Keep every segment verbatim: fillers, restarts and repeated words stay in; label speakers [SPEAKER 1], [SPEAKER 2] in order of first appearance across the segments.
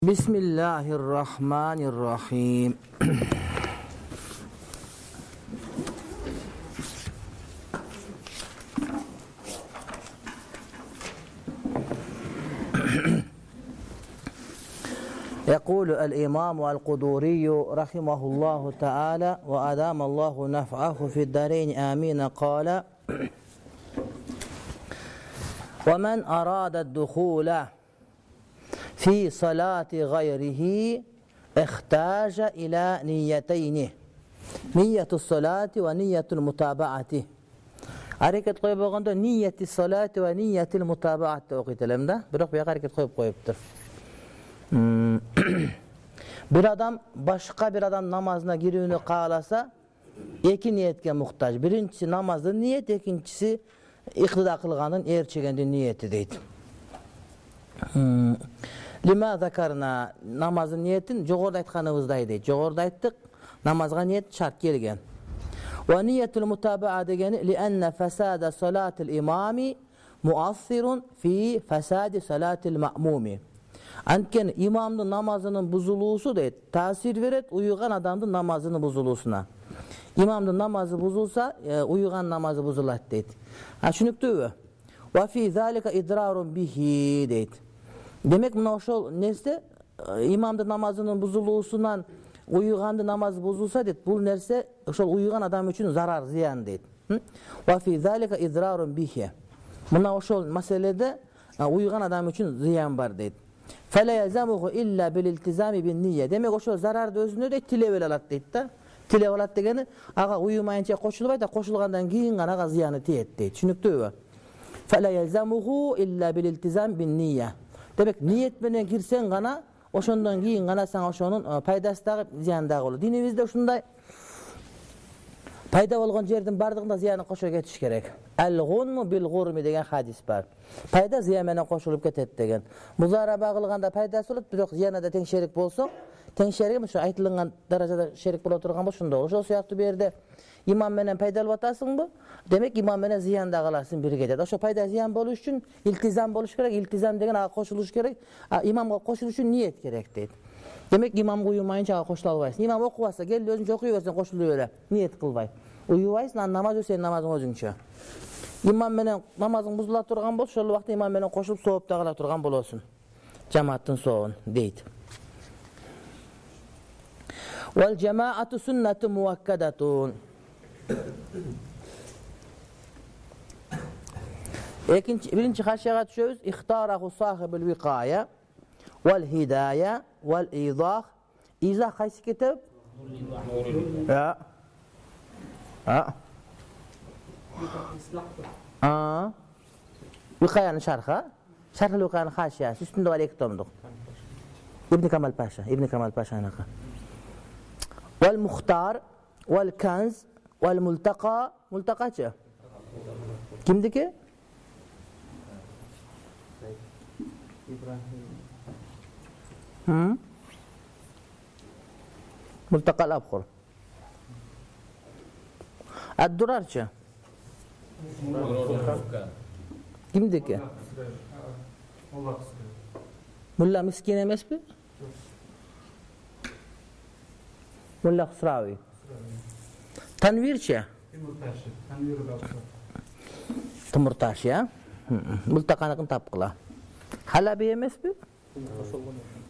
[SPEAKER 1] Bismillahirrahmanirrahim. يقول الإمام القدوري رحمه الله تعالى وأدام الله نفعه في الدارين آمين قال: ومن أراد الدخول في صلاة غيره احتاج إلى نيتين: نية الصلاة ونية المتابعة. Hareket koyup olganda niyeti salat ve niyetil mutabaat okuyalım da. Biroq bu hareket koyup koyuptur. Hmm. Bir adam başka bir adam namazına girүүnü kaalasa iki niyetke muhtaç. Birincisi namazın niyet, ikincisi iktida kılganın erçegendin niyeti deydi. Hmm. Lima zakarna namazın niyetin jogorda aytkanыбыздай дейт. Jogorda ayttık namazga niyet şart kelgen. Ve niyetul mutaba'a degeni lianna fasada salatil imami muassirun fi fasadi salatil ma'mumi. Anken imamdın namazının buzuluğusu deyt, tasir veret uyugan adamdın namazının buzuluğusuna. İmamdın namazı buzulsa e, uyugan namazı buzulat deyt. Ha şunuktu. Ve fi zalika idrarun bihi deyt. Demek mına oşol nerse imamdın namazının buzuluğusundan uyugandı namaz bozulsa deyt. Bu nerse oşol uyugan adam üçün zarar, ziyan deyt. Ve fi zalika idrarun bihi. Mına oşol meselede uyugan adam üçün ziyan var deyt. Fele yezamuhu illa bil iltizami bin niyye. Demek o şu zarardı özünü de tilevel alat deyt da. Tilevel alat degeni aga uyumayınca koşulubay da koşulgandan keyin gana aga ziyanı tiyet deyt. Şunuktu. Fele yezamuhu illa bil iltizam bin niyye. Demek niyet menen girsen gana oşondan keyin gana sana oşonun paydası da ziyanı da olur. Dinimizde şunday payda bolgan жердин бардыгында зыяны кошо кетиш керек. Al-ghunmu bil-ghurmi деген hadis бар. Пайда зыян менен кошулуп кетет деген. Музараба кылганда пайдасы болот, бирок зыяны да тең шерик болсо, тең шерик ошо айтылган даражада шерик боло турган болсо ошондо. Ошол сыяктуу бу жерде имам менен пайдалып атасыңбы? Демек имам менен зыян да кыласың бирге деп. Ошо пайда зыян болуш үчүн илтизам болуш керек. Илтизам деген ага кошулуш керек. Имамга кошулуш үчүн ниет керек дейт. Demek imam uyumayınca ага koşula albaysın. İmam okubasa gel özünce okuyuversen koşuluyor öyle. Niyet kılbay. Uyubaysın, namaz ösen namazın özünçe. İmam menen namazın buzula turgan bolsa, şol vakti imam menen koşulup soğup da kala turgan bolosун. Cemaatin soğun deydi. Vel cemaatu sünnetü muvakkadatun. İkinci, birinci haşiyaga düşüyoruz. İhtarahu sahibul vikaya vel hidaya vel izah. İzah kaysi kitap? Ya. Ha. Aa. Vikayanın şarhı. Şarhı vikayanın haşiyası. Üstünde var iki tomduk. İbn Kemal Paşa. İbn Kemal Paşa'nın. Vel muhtar vel kanz vel multaka. Multakaçı. Kimdi ki? Hı? Multakal abkhur. Ad-Durarçı. Kimdi ki? Mulla Miskin emes mi? Mulla Husravi. Tanvirçi. Timurtaşı ya. Multakanıkın tapqıla. Halabi emes mi?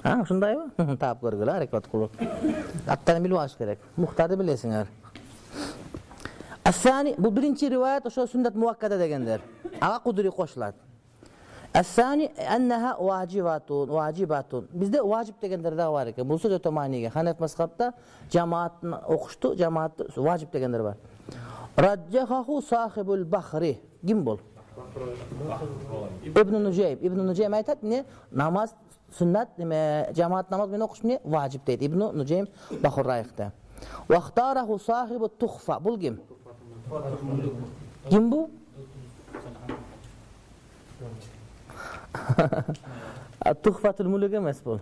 [SPEAKER 1] Ha, şunday mı? Tap görgüle hareket kılıp. Attanı bilmez gerek. Muhtarı bilesinler. As-sani, bu birinci rivayet o sünnet muvakkada degendir. Ağa kuduri koşulat. As-sani enneha vacibatun, vacibatun. Bizde vacip degendir de var ki. Bu söz otomaniye. Hanef mezhepte cemaatini okuştu, cemaat vacip degendir var. Raccahahu sahibul bahri. Kim bol? İbn Nuceym. İbn Nuceym aytat ne? Namaz sünnet, cemaat namaz meni okuş ne? Vacip deydi. İbn Nuceym Bahurrayıq'da. Ve ihtarahu sahibu tuhfa. Bul kim? Kim bu? Тухфатул мулук эмес бул.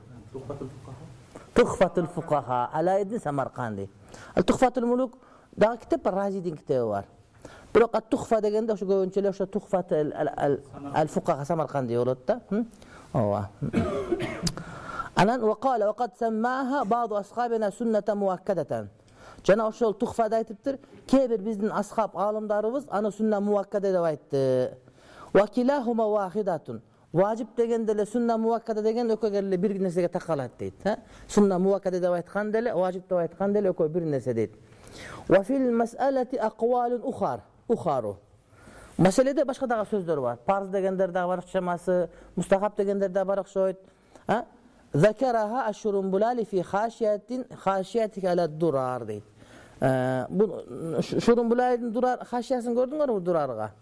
[SPEAKER 1] Тухфатул фукаха Ала ибн Самарканди. Ал Тухфатул мулук дагы китеп бар, Разидин китеби бар. Бирок ат-тухфа дегенде ошо көбүнчө эле ошо тухфат ал-фукаха Самарканди болот да. Ооба. Анан вакала вакад саммаха ба'ду асхабина суннатан муаккадатан. Жана ошол тухфада айтыптыр, кээ бир биздин асхаб алымдарыбыз аны сунна муаккада деп айтты. Ва килахума вахидатун. Важип дегенде эле сунна муаккада деген экөө эле бир нерсеге такалат дейт. Сунна муаккада деп айткан деле, важип деп айткан деле экөө бир нерсе дейт. Ва фил мас'алати aqwalun ukhar. Ухару. Маселеде башка дагы сөздөр бар. Парз дегендер дагы бар окшамасы, мустахаб дегендер дагы бар окшойт. А? Закараха аш-Шурумбулали фи хашиятин хашиятик ала дурар дейт. Бу Шурумбулалидин дурар хашиясын көрдүңөрбү дурарга?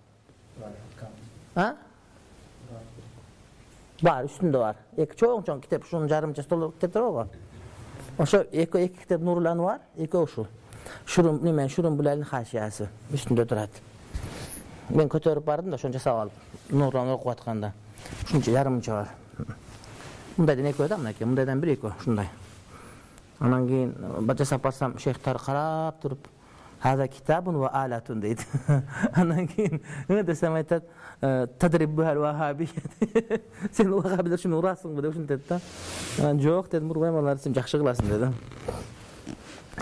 [SPEAKER 1] А? Бар, үстүндө бар. Эки чоң-чоң китеп, ушунун жарымча стол китептер бар. Ошо эки эки китеп Нурул Анвар, эки ушул. Шурум немен Шурумбулалидин хашиясы үстүндө турат. Мен көтөрүп бардым да, ошону жасап алып, Нурулан окуп атканда. Ушунча жарымча бар. Мындайдан экөө да, мынакей, мындайдан бир экөө, ушундай. Анан кийин жасап барсам, шейхтар карап туруп, "Хаза китабун ва алатун" дейт. Анан кийин эмне десем айтат, "Тадриббухал вахабия". Сен вахабилер ушуну урасыңбы деп ушинтет да. Анан жок дедим, урбайм алар, сен жакшы кыласың дедим.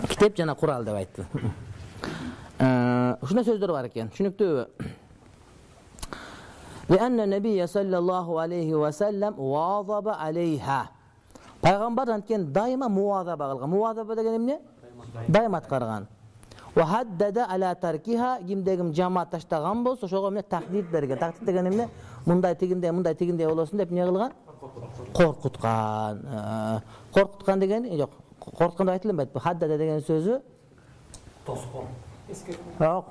[SPEAKER 1] Китеп жана Курал деп айтты. Ушундай сөздөр бар экен. Түшүнүктүүбү? Лианна набия саллаллаху алейхи ва саллам вазаба алейха. Пайгамбар анткени дайыма муазаба кылган. Муазаба деген эмне? Дайыма аткарган. Ва хаддада ала таркиха, кимде ким жамаат таштаган болсо, ошого эмне тахдид берген. Тахдид деген эмне? Мындай тигиндей, мындай тигиндей болосун деп эмне кылган? Коркуткан. Коркуткан деген жок. Коркуткан деп айтылбайт. Бу хаддада деген сөзү тоскон. Жок.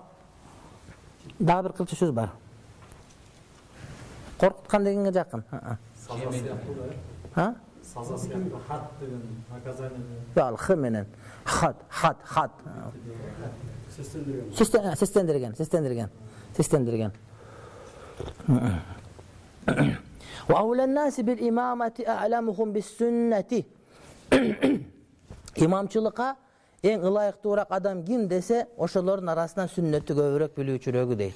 [SPEAKER 1] Дагы бир кылча сөз бар. Коркуткан дегенге жакын. Ha?
[SPEAKER 2] Саза сыяктуу хат деген наказание.
[SPEAKER 1] Жок, х менен. Хат, хат, хат.
[SPEAKER 2] Сестендирген.
[SPEAKER 1] Сестен, сестендирген, сестендирген. Сестендирген. Wa awla an-nas bil imamati a'lamuhum bis sunnati. Имамчылыкка эң ылайыктуураак адам ким десе, ошолордун арасынан сүннөттү көбүрөөк билүүчүрөгү дейт.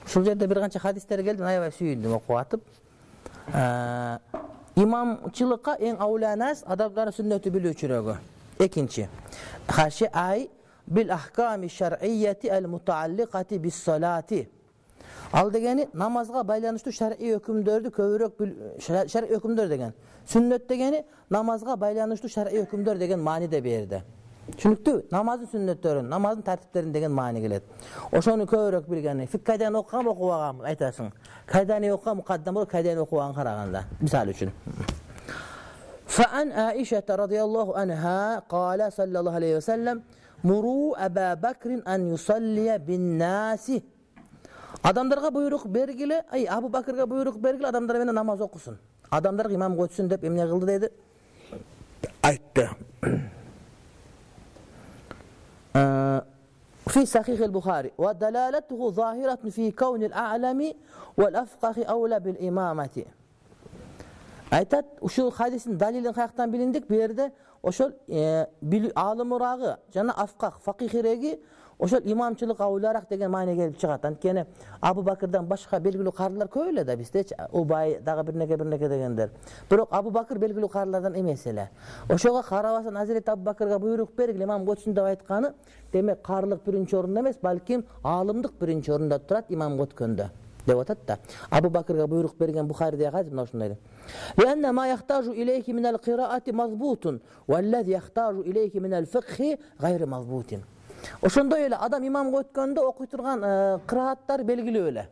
[SPEAKER 1] Ушул жерде бир канча хадистер келди, аябай сүйүндүм окуп атып. Имамчылыкка эң ауланас адамдардын сүннөттү билүүчүрөгү. Экинчи, хаши ай бил ахками шар'иyyati al-mutaalliqati bis-salati. Ал дегени намазга байланыштуу шар'ий өкүмдөрдү көбүрөөк шар'ий өкүмдөр деген. Сүннөт дегени намазга байланыштуу шар'ий өкүмдөр деген мааниде берди. Түшүнүктүү? Намаздын сүннөттөрүн, намаздын тартиптерин деген маани келет. Ошону көбүрөөк билгени, фик кайдан окугам, окубагам айтасың. Кайдан окугам, мукаддам болуп, кайдан окубаган караганда. Мисалы үчүн. Фаан Аиша радhiyallahu anha qala sallallahu alayhi wa sallam muru Abu Bakr an yusalliya bin-nasi. Адамдарга буйрук бергиле, ай Абу Бакырга буйрук бергиле, адамдар менен намаз окусун. Адамдарга имам көтсүн деп эмне кылды деди? Айтты. في صحيح البخاري ودلالته ظاهرة في كون الأعلم والأفقه أولى بالإمامة. Айтат, ушул хадистин далилин каяктан билиндик? Бу жерде ошол алымырагы жана афках, факихиреги ошол имамчылык аулараак деген маани келип чыгат. Анткени Абу Бакырдан башка белгилүү карылар көп эле да биздечи, Убай дагы бир неке бир неке дегендер. Бирок Абу Бакыр белгилүү карылардан эмес эле. Ошого карабастан Азирет Абу Бакырга буйрук бергиле, имам көтсүн деп айтканы, демек карылык биринчи орунда эмес, балким аалымдык биринчи орунда турат имам көткөндө. деп атат да. Абу Бакырга буйрук берген Бухаридеги хадис мына ушундай. Лианна ма яхтажу илейки минал кираати мазбутун, валлази яхтажу илейки минал фикхи гайри мазбутин. Ошондой эле адам имамга өткөндө окуй турган кырааттар белгилүү эле.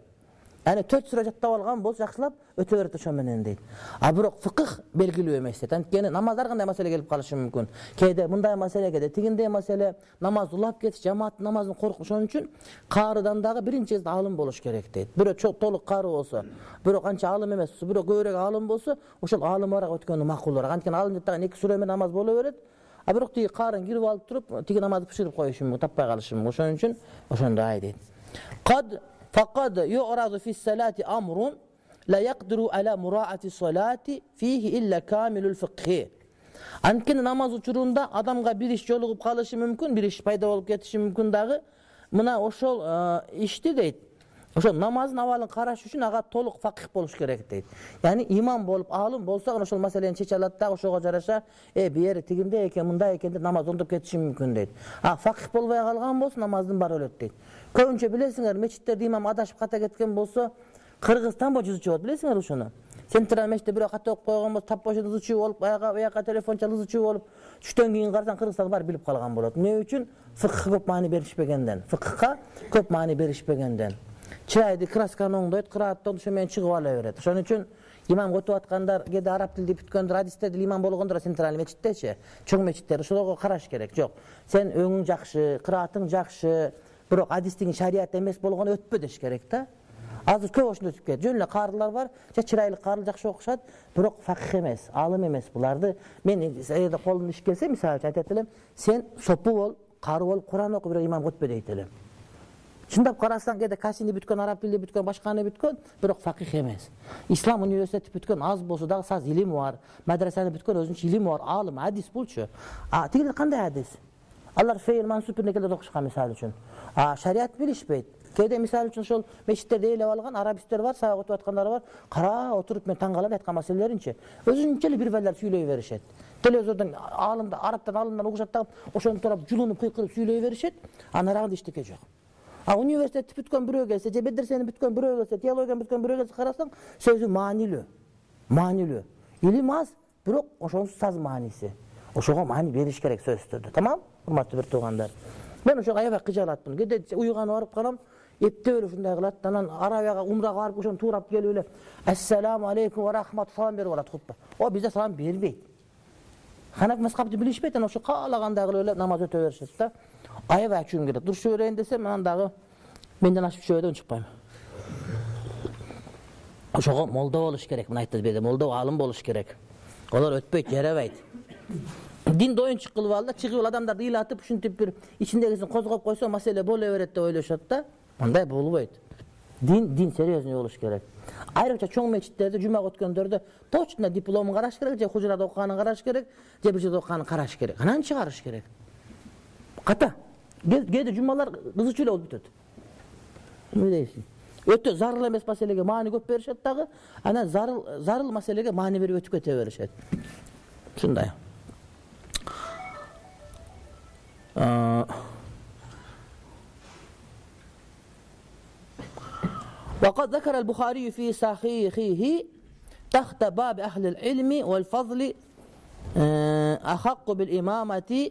[SPEAKER 1] Аны төрт сүрө жаттап алган болсо жакшылап өтө берет ошо менен дейт. А бирок фикх белгилүү эмес дейт. Анткени намаздар кандай маселе келип калышы мүмкүн. Кээде мындай маселе, кээде тигиндей маселе, намаз улап кетиш, жамаат намазын коркуп, ошон үчүн карыдан дагы биринчи алым болуш керек дейт. Бирөө чок толук кары болсо, бирөө канча алым эмес, бирөө көбүрөөк алым болсо, ошол алымыраак өткөнү макулураак. Анткени алым деп эки сүрө менен намаз боло берет. А бирок тиги карын кирип алып туруп, тиги намазды бышырып коюшу мүмкүн, таппай калышы мүмкүн. Ошон үчүн ошондой дейт. Кад Faqad yu'radu fi salati amrun, لا يقدر على مراعاة الصلاة فيه إلا كامل الفقه. Анткени намаз учурунда адамга бир иш жолугуп калышы мүмкүн, бир иш пайда болуп кетиши мүмкүн дагы. Мына ошол ишти дейт. Ошо намаздын абалын караш үчүн ага толук факих болуш керек дейт. Яни имам болуп, алым болсо ошол маселени чече алат да, ошого жараша, э бери тигинде экен, мындай экен деп намаз оңдоп кетиши мүмкүн дейт. А факих болбой калган болсо намаздын баары өлөт дейт. Көбүнчө билесиңер, мечиттерде имам адашып ката кеткен болсо, Кыргызстан боюнча чыгат, билесиңер ошону. Централ мечитте бирөө ката окуп койгон болсо, тап бошон ызычуу болуп, аяга аяка телефон чалып ызычуу болуп, түштөн кийин карасаң Кыргызстан баары билип калган болот. Эмне үчүн? Фикхка көп маани беришпегенден. Фикхка көп маани беришпегенден. Чырайды красканы оңдойт, кырааттан ошо менен чыгып ала берет. Ошон үчүн имам көтүп аткандар, кээде араб тилди бүткөндөр, хадистерде имам болгондор централ мечиттечи, чоң мечиттер ошолорго караш керек. Жок, сен өңүң жакшы, кыраатың жакшы, бирок хадистин шарият эмес болгону өтпө деш керек да. Азыр көп ошондой өтүп кетет. Жөн эле каарылар бар, же чырайлык каарыл жакшы окушат, бирок факих эмес, алым эмес буларды. Мен эгерде колумдан иш келсе, мисалы үчүн айтат элем, сен сопу бол, кары бол, Куран оку, бирок имам өтпө дейт элем. Чындап карасаң, кээде касини бүткөн, араб тилди бүткөн, башканы бүткөн, бирок факих эмес. Ислам университети бүткөн, аз болсо дагы саз илими бар, мадрасаны бүткөн, өзүнчө илими бар, алым, хадис булчу. А тигилер кандай хадис? Алар фейл мансуп некелерди окушкан мисалы үчүн. А шарият билишпейт. Кээде мисалы үчүн ошол мечиттерде эйлеп алган арабисттер бар, сабак өтүп аткандар бар. Кара отуруп мен таң калам айткан маселелеринчи. Өзүнчө эле бир берлер сүйлөй беришет. Телевизордон алымда арабтан алымдан угушат да, ошону турап жулунуп кыйкырып сүйлөй беришет. Анарагында эчтеке жок. А университетти бүткөн бирөө келсе, же медресени бүткөн бирөө келсе, теологияны бүткөн бирөө келсе карасаң, сөзү маанилүү. Маанилүү. Илим аз, бирок ошонсуз саз мааниси. Ошого маани бериш керек сөздөрдө. Тамам? Урматтуу бир туугандар. Мен ошого аябай кыжалатмын. Кээде уйганы барып калам, эптеп эле ушундай кылат. Анан Арабияга умрага барып ошону туурап келип эле ассаламу алейкум ва рахмат салам берип алат хутба. О бизде салам бербейт. Ханафи мазхабты билишпейт, анан ошо каалагандай кылып эле намаз өтө беришет да. Аябай ачуум келет. Дуруш берейин десем, анан дагы менден ашып чөбөдөн чыкпайм. Ошого молдо болуш керек, мына айтты беде, молдо алым болуш керек. Олар өтпөйт, жарабайт. Динди оюнчук кылып алды, чыгып адамдарды ыйлатып, ушинтип бир ичиндегисин козгоп койсо, маселе боло берет деп ойлошот да. Андай болбойт. Дин дин серьезный болуш керек. Айрыкча чоң мечиттерде жумага өткөндөрдө точно дипломун караш керек, же хужурада окуганын караш керек, же бир жерде окуганын караш керек. Анан чыгарыш керек. Ката. Кээде жумалар кызычуу эле болуп бүтөт. Эмне дейсиң? Өтө зарыл эмес маселеге маани көп беришет дагы, анан зарыл зарыл маселеге маани берип өтүп кете беришет. Ушундай. وقد ذكر البخاري في صحيحه تحت باب أهل العلم والفضل أحق بالإمامة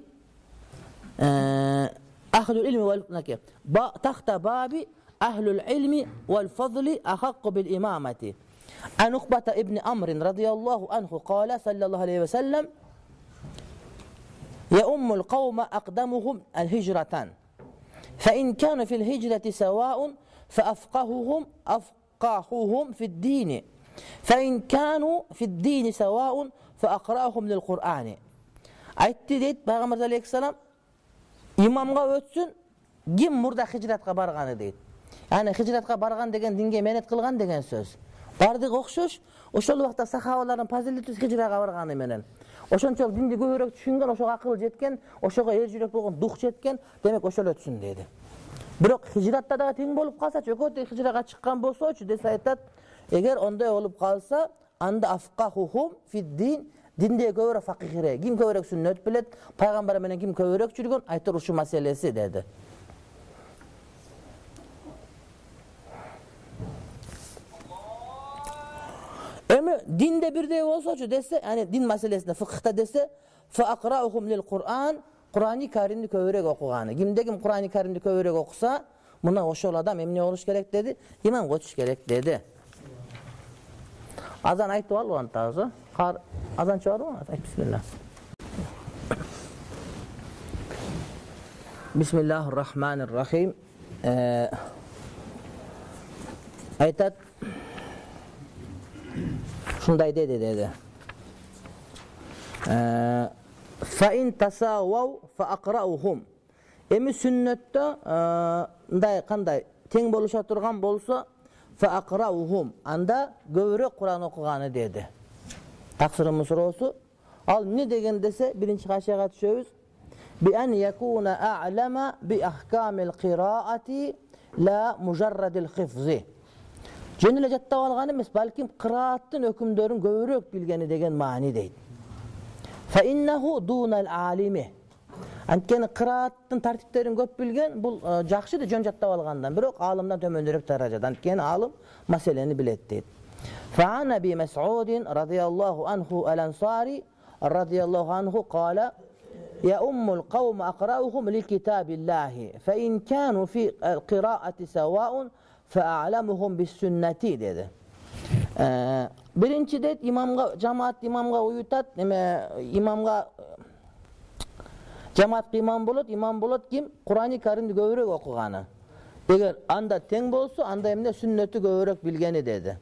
[SPEAKER 1] أهل العلم والفضل تحت باب أهل العلم والفضل أحق بالإمامة عن عقبة ابن عمرو رضي الله عنه قال صلى الله عليه وسلم يؤم القوم أقدمهم الهجرة فإن كانوا في الهجرة سواء فأفقههم أفقههم في الدين فإن كانوا في الدين سواء فأقرأهم للقرآن. Айтты дейт Пайгамбар алейхиссалам, имамга өтсүн ким мурда хижратка барганы дейт. Яны хижратка барган деген динге менет кылган деген сөз. Бардыгы окшош, ошол убакта сахабалардын фазилети хижрага барганы менен. Ошончолук динди көбүрөөк түшүнгөн, ошого акыл жеткен, ошого эр жүрөк болгон дух жеткен, демек ошол өтсүн деди. Бирок хижратта дагы тең болуп калсачы, экөөтө хижрага чыккан болсочу десе айтат, эгер ондой болуп калса, анда афкахухум фиддин, динде көбүрөөк факихире, ким көбүрөөк сүннөт билет, пайгамбар менен ким көбүрөөк жүргөн, айтыр ушу маселеси деди. Эми динде бирдей болсочу десе, яни дин маселесинде фикхта десе, фа акраухум лил Кур'ан, Кур'ани Каримди көбүрөөк окуганы. Кимде ким Кур'ани Каримди көбүрөөк окуса, мына ошол адам эмне болуш керек деди? Имамга өтүш керек деди. Азан айтып албы антагы? Кар азан чыгарбы? Айт бисмилlah. Бисмиллахир-рахманир-рахим. Айтат шундай деди деди. Фаин тасавау фаақраухум. Эми сүннөттө мындай кандай тең болуша турган болсо, فأقرأهم анда көбүрөөк Кур'ан окуганы деди. Таксырымдын суроосу ал эмне деген десе, биринчи кашияга түшөбүз. Bi an yakuna a'lama bi ahkamil qira'ati la mujarradil hifzi. Жөн эле жаттап алган эмес, балким кырааттын өкүмдөрүн көбүрөөк билгени деген маани дейт. Fa innahu dunal alimi. Анткени кырааттын тартиптерин көп билген бул жакшы да жөн жаттап алгандан, бирок алымдан төмөндөрөөк даражада. Анткени алым маселени билет дейт. Fa an Abi Mas'ud radhiyallahu anhu al-Ansari radhiyallahu anhu qala يا أم القوم أقرأهم لكتاب الله فإن كانوا في القراءة سواء فأعلمهم بالسنة dedi. Ee, birinci deyt imamga cemaat imamga uyutat, neme imamga cemaat imam bolot, imam bolot kim? Kur'an-ı Kerim'de göbürök okugany. Eger anda teң bolsa, anda emne sünneti göbürök bilgeni dedi.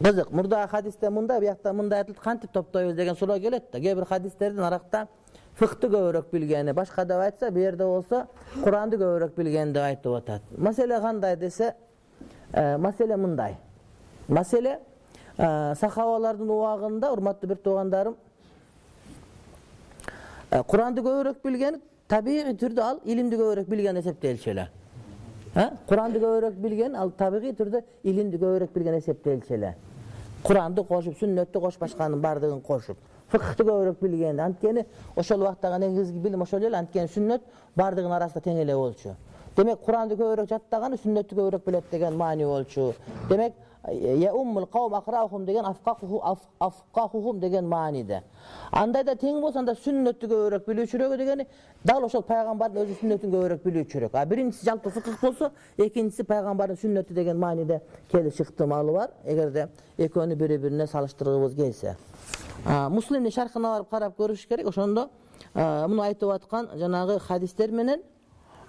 [SPEAKER 1] Kızık, murda hadiste munda, buyakta munda aytıldı, kantip toptoyuz деген суроо келет да. Кээ бир хадистердин аракта фыкты көбүрөөк билгени, башка деп айтса, бу жерде болсо Куранды көбүрөөк билгени деп айтып атат. Маселе кандай десе, маселе мындай. Маселе сахабалардын убагында, урматтуу бир туугандарым, Куранды көбүрөөк билген, табигый түрдө ал илимди көбүрөөк билген эсептелчү эле. Куранды көбүрөөк билген, ал табигый түрдө илимди көбүрөөк билген эсептелчү эле. Куранды кошуп, сүннөттү кошуп, башканын бардыгын кошуп, фыкты көбүрөөк билген. Анткени ошол убактагы негизги билим ошол эле, анткени сүннөт бардыгынын арасында тең эле болчу. Демек Куранды көбүрөөк жаттаганы сүннөттү көбүрөөк билет деген маани болчу. Демек я уммул кавм акраухум деген афкаху афкахухум деген мааниде. Андайда тең болсо анда сүннөттү көбүрөөк билүүчүрөк дегени дал ошол пайгамбардын өзү сүннөтүн көбүрөөк билүүчүрөк. А биринчиси жалпы фыкых болсо, экинчиси пайгамбардын сүннөтү деген мааниде келип ыктымалы бар. Эгерде экөөнү бири-бирине салыштыргыбыз келсе. Муслимдин шархына барып карап көрүш керек. Ошондо муну айтып аткан жанагы хадистер менен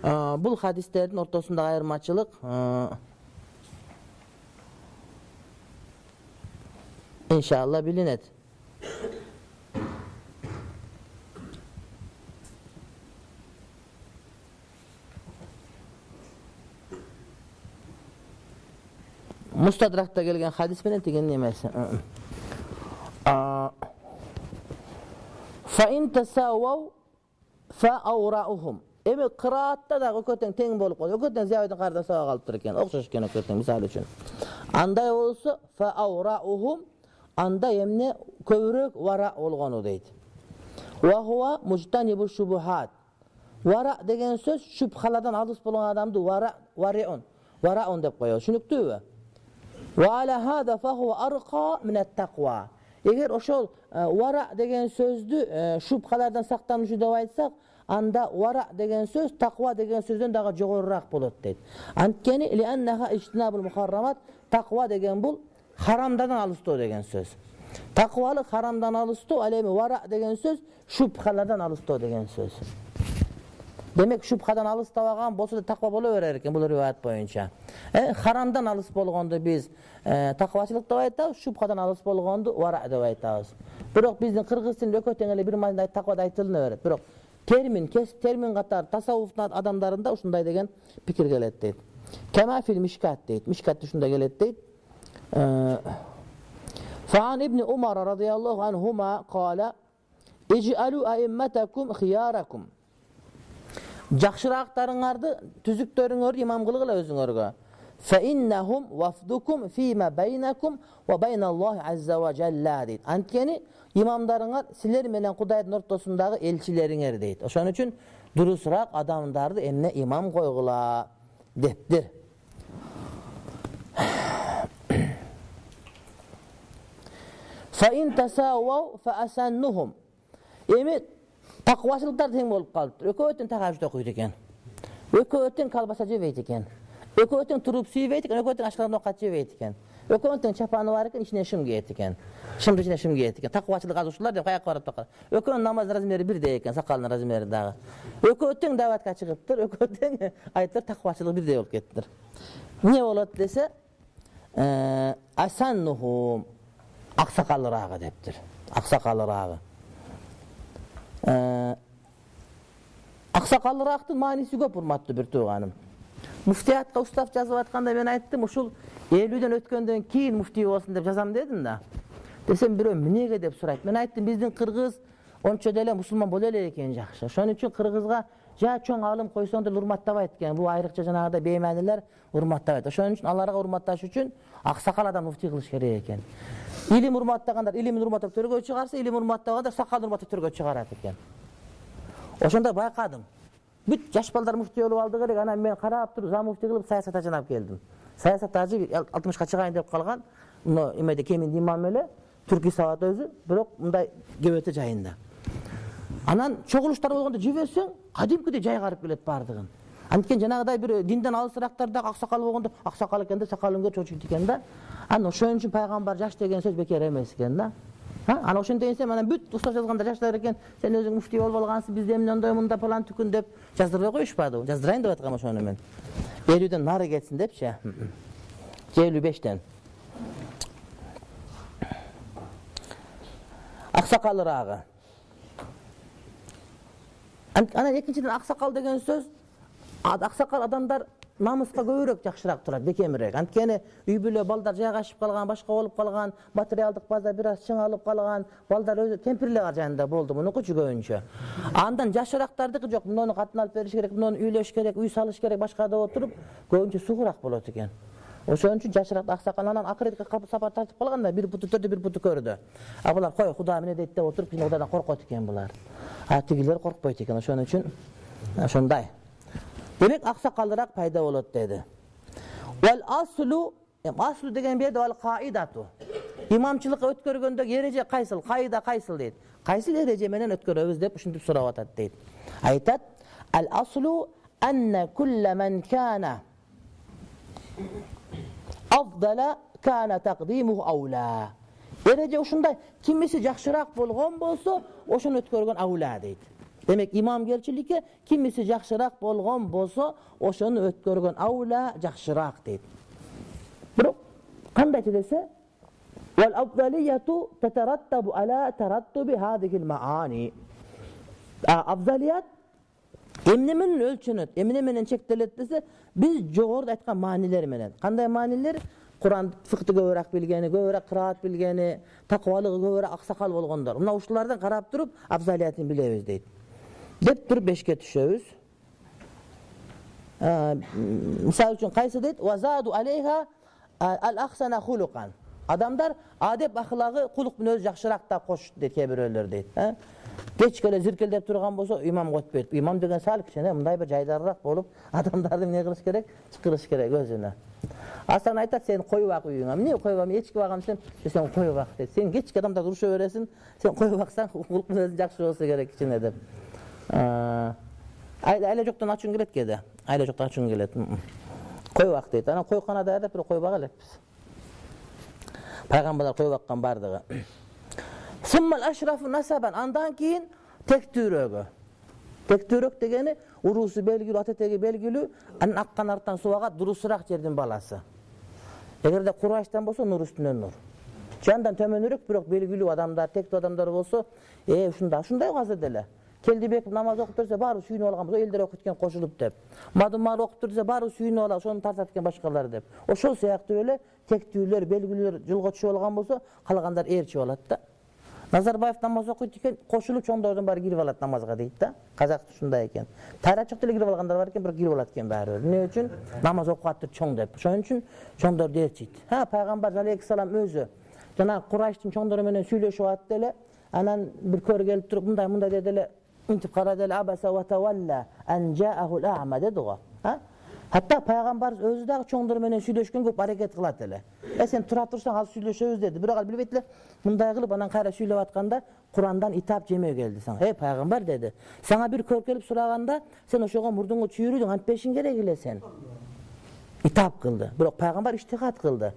[SPEAKER 1] бул хадистердин ортосундагы айырмачылык иншалла билинет. Мустадракта келген хадис менен деген немеси. Fa in tasawaw fa awra'uhum. Эми кыраатта да өкөтөң тең болуп калды. Өкөтөң зиябайдын карда сага калып тур экен. Окшош экен өкөтөң мисалы үчүн. Андай болсо fa awra'uhum анда эмне көбүрөөк вара болгону дейт. Wa huwa mujtanibu shubuhat. Вара деген сөз шубхалардан алыс болгон адамды вара вариун. Вараун деп коёбуз. Түшүнүктүүбү? Wa ala hada fa huwa arqa min at-taqwa. Эгер ошол вара деген сөздү шубхалардан сактануучу деп айтсак, анда вара деген сөз таква деген сөздөн дагы жогорурак болот дейт. Анткени ли аннаха ижтинабул мухаррамат, таква деген бул харамдардан алыстоо деген сөз. Таквалык харамдан алыстоо, ал эми вара деген сөз шубхалардан алыстоо деген сөз. Демек шубхадан алыстабаган болсо да таква боло берер экен бул риваят боюнча. Э харамдан алыс болгонду биз таквачылык деп айтабыз, шубхадан алыс болгонду вара деп айтабыз. Бирок биздин кыргыз тилинде өкөтөң эле бир маанida таквада айтылына берет. Бирок термин, кес термин катары тасаввуфтун адамдарында ушундай деген пикир келет дейт. Кама фил мишкат дейт. Мишкатта ушундай келет дейт. Фаан ибн Умар радияллаху анхума qala иж'алу аимматакум хияракум. Жакшырактарыңарды, түзүктөрүңөрдү имам кылгыла өзүңөргө. Fa innahum wafdukum fima bainakum wa bainallohi azza wa jalla дейт. Анткени имамдарыңар силер менен Кудайдын ортосундагы элчилериңер дейт. Ошон үчүн дурусураак адамдарды эмне имам койгула дептир. Fa in tasawaw fa asannuhum. Эми таквачылыктар тең болуп калыптыр. Экөөтөн тахажжуд окуйт экен. Экөөтөн калбаса жебейт экен. Экөөтөн туруп сүйбейт экен, экөөтөн ашкардан окат жебейт экен. Экөөтөн чапаны бар экен, ичине шым кийет экен. Шымды ичине шым кийет экен. Таквачылык азушулар деп каяка барып такат. Экөөнүн намаз размери бирдей экен, сакалынын размери дагы. Экөөтөн даватка чыгыптыр, экөөтөн айтыр таквачылык бирдей болуп кеттир. Эмне болот десе, асаннухум аксакалыраагы дептир. Аксакалыраагы. Аксакалыраактын мааниси көп, урматтуу бир тууганым. Муфтиятка устав жазып атканда мен айттым, ушул элүүдөн өткөндөн кийин муфтий болсун деп жазам дедим да. Десем бирөө эмнеге деп сурайт. Мен айттым, биздин кыргыз ончо деле мусулман боло элек экен жакшы. Ошон үчүн кыргызга жа чоң алым койсоң деле урматтабайт экен. Бул айрыкча жанагыдай бейманилер урматтабайт. Ошон үчүн аларга урматташ үчүн аксакал адам муфтий кылыш керек экен. Илим урматтагандар илимин урматтап төргө чыгарса, илим урматтагандар сакалын урматтап төргө чыгарат экен. Ошондо байкадым. Бүт жаш балдар муфтий болуп алды керек. Анан мен карап туруп зам муфтий кылып саясатка жанап келдим. Саясат ажы алтымышка чыгайын деп калган. Мына эмеде кемин имам эле, түрки сабат өзү, бирок мындай кебете жайында. Анан чогулуштар болгондо жиберсең, кадимкидей жайгарып келет бардыгын. Анткени жанагыдай бир динден алысырактарда аксакал болгондо, аксакал экенде сакалын көрүп чочуйт экен да. Анан ошон үчүн пайгамбар жаш деген сөз бекер эмес экен да. Ha, ana ошондой десем, анан бүт устаз жазганда жаштар экен, сен өзүң муфтий болуп алгансың, бизде эмне ондой мында план түкүн деп жаздырбай коюшпады. Жаздырайын деп аткам ошону мен. элүүдөн нары кетсин депчи. элүү бештен. Аксакалырагы. Анан экинчиден аксакал деген сөз, аксакал адамдар намыска көбүрөөк жакшыраак турат, бекемирээк. Анткени үй бүлө балдар жайгашып калган, башка болуп калган, материалдык база бир аз чыңалып калган, балдар өзү кемпирлер жанында болду, мунукучу көбүнчө. Андан жашырактардыкы жок, муну катын алып бериш керек, муну үйлөш керек, үй салыш керек, башка да отуруп, көбүнчө сугураак болот экен. Ошон үчүн жашыраак аксакал анан акыретке сапар тартып калганда бир буту төрдү, бир буту көрдү. А булар кой Куда эмне дейт деп отуруп, кийин Кудадан коркот экен булар. А тигилер коркпойт экен, ошон үчүн ошондой. Демек аксакалыраак пайда болот деди. Вал аслу, аслу деген берде вал каидату. Имамчылыкка өткөргөндө эреже кайсыл, кайда кайсыл дейт. Кайсыл эреже менен өткөрөбүз деп ушинтип сурап атат дейт. Айтат: ал аслу анна кулла ман кана афдала кана тaqdimuhu awla. Эреже ушундай, кимиси жакшыраак болгон болсо, ошону өткөргөн аула дейт. Демек имамгерчиликке кимиси жакшыраак болгон болсо, ошону өткөргөн аула жакшыраак дейт. Бирок кандай десе, вал афдалияту татараттабу ала тараттуби hadhihi al-maani. Афдалият эмне менен өлчөнөт, эмне менен чектелет десе, биз жогоруда айткан маанилер менен. Кандай маанилер? Куран фыкты көбүрөөк билгени, көбүрөөк кыраат билгени, таквалыгы көбүрөөк аксакал болгондор. Мына ушулардан карап туруп, афдалиятын билебиз дейт. Деп туруп бешке түшөбүз. Мисалы үчүн кайсы дейт? Вазаду алейха ал-ахсана хулукан. Адамдар адеп ахлагы кулук менен өзү жакшыраак да кошут дейт кээ бирөөлөр дейт. Кечке зиркелдеп турган болсо имам өтпөйт. Имам деген сал кичине мындай бир жайдарыраак болуп, адамдарды эмне кылыш керек? Чакырыш керек өзүнө. Асан айтат, сен коюп ак үйүңө. Эмне коюп ам, эчки багам десем, сен коюп ак дейт. Сен кечке адамдар уруша бересиң, сен коюп аксаң, кулук менен өзү жакшы болсо керек кичине деп. Айла жоктон ачуң келет кеде. Айла жоктон ачуң келет. Коюп ак дейт. Анан койканада аяп бир коюп ак элекпиз. Пайгамбарлар коюп аккан бардыгы. Суммал ашрафу насабан, андан кийин тектүүрөгө. Тектүүрөк дегени уруусу белгилүү, ата-теги белгилүү, анан аккан арттан суу агат, дурусураак жердин баласы. Эгерде Курайштан болсо нур үстүнөн нур. Жандан төмөнүрөөк, бирок белгилүү адамдар, тектүү адамдар болсо, э ушундай, ушундай азыр деле. Келдибек намаз окуп берсе, баары сүйүнүп алган болсо, элдер окуп кеткен кошулуп деп. Мадумар окуп берсе, баары сүйүнүп алат, ошону тартат экен башкалар деп. Ошол сыяктуу эле тектүүлөр, белгилүүлөр жылга түшүп алган болсо, калгандар ээрчи болот да. Назарбаев намаз окуйт экен, кошулуп чоңдордун баары кирип алат намазга дейт да. Казак ушундай экен. Тарачык деле кирип алгандар бар экен, бирок кирип алат экен баары. Эмне үчүн? Намаз окуп атты чоң деп. Ошон үчүн чоңдорду ээрчийт. Ха, пайгамбар алейхиссалам өзү жана Курайштын чоңдору менен сүйлөшүп атты эле, анан бир көр келип туруп, мындай мындай деди эле, интип карады эле, абаса ва тавалла ан жаахул а'ма деди го. Ха? Hatta Peygamber özü de çoğundur menen süйлөшкөн көп hareket kılat ele. E sen tura tursan al süйлөшөбүз dedi. Biragal bilip etile, mınday kılıp anan kayra süйлөp atkanda Kur'an'dan itap jemeye geldi sana. Hey Peygamber dedi. Sana bir kör kelip suraganda sen oşoga murdungu çүйürüdün, antpeşin gerek ile sen. İtap kıldı. Biroq Peygamber iştihat kıldı.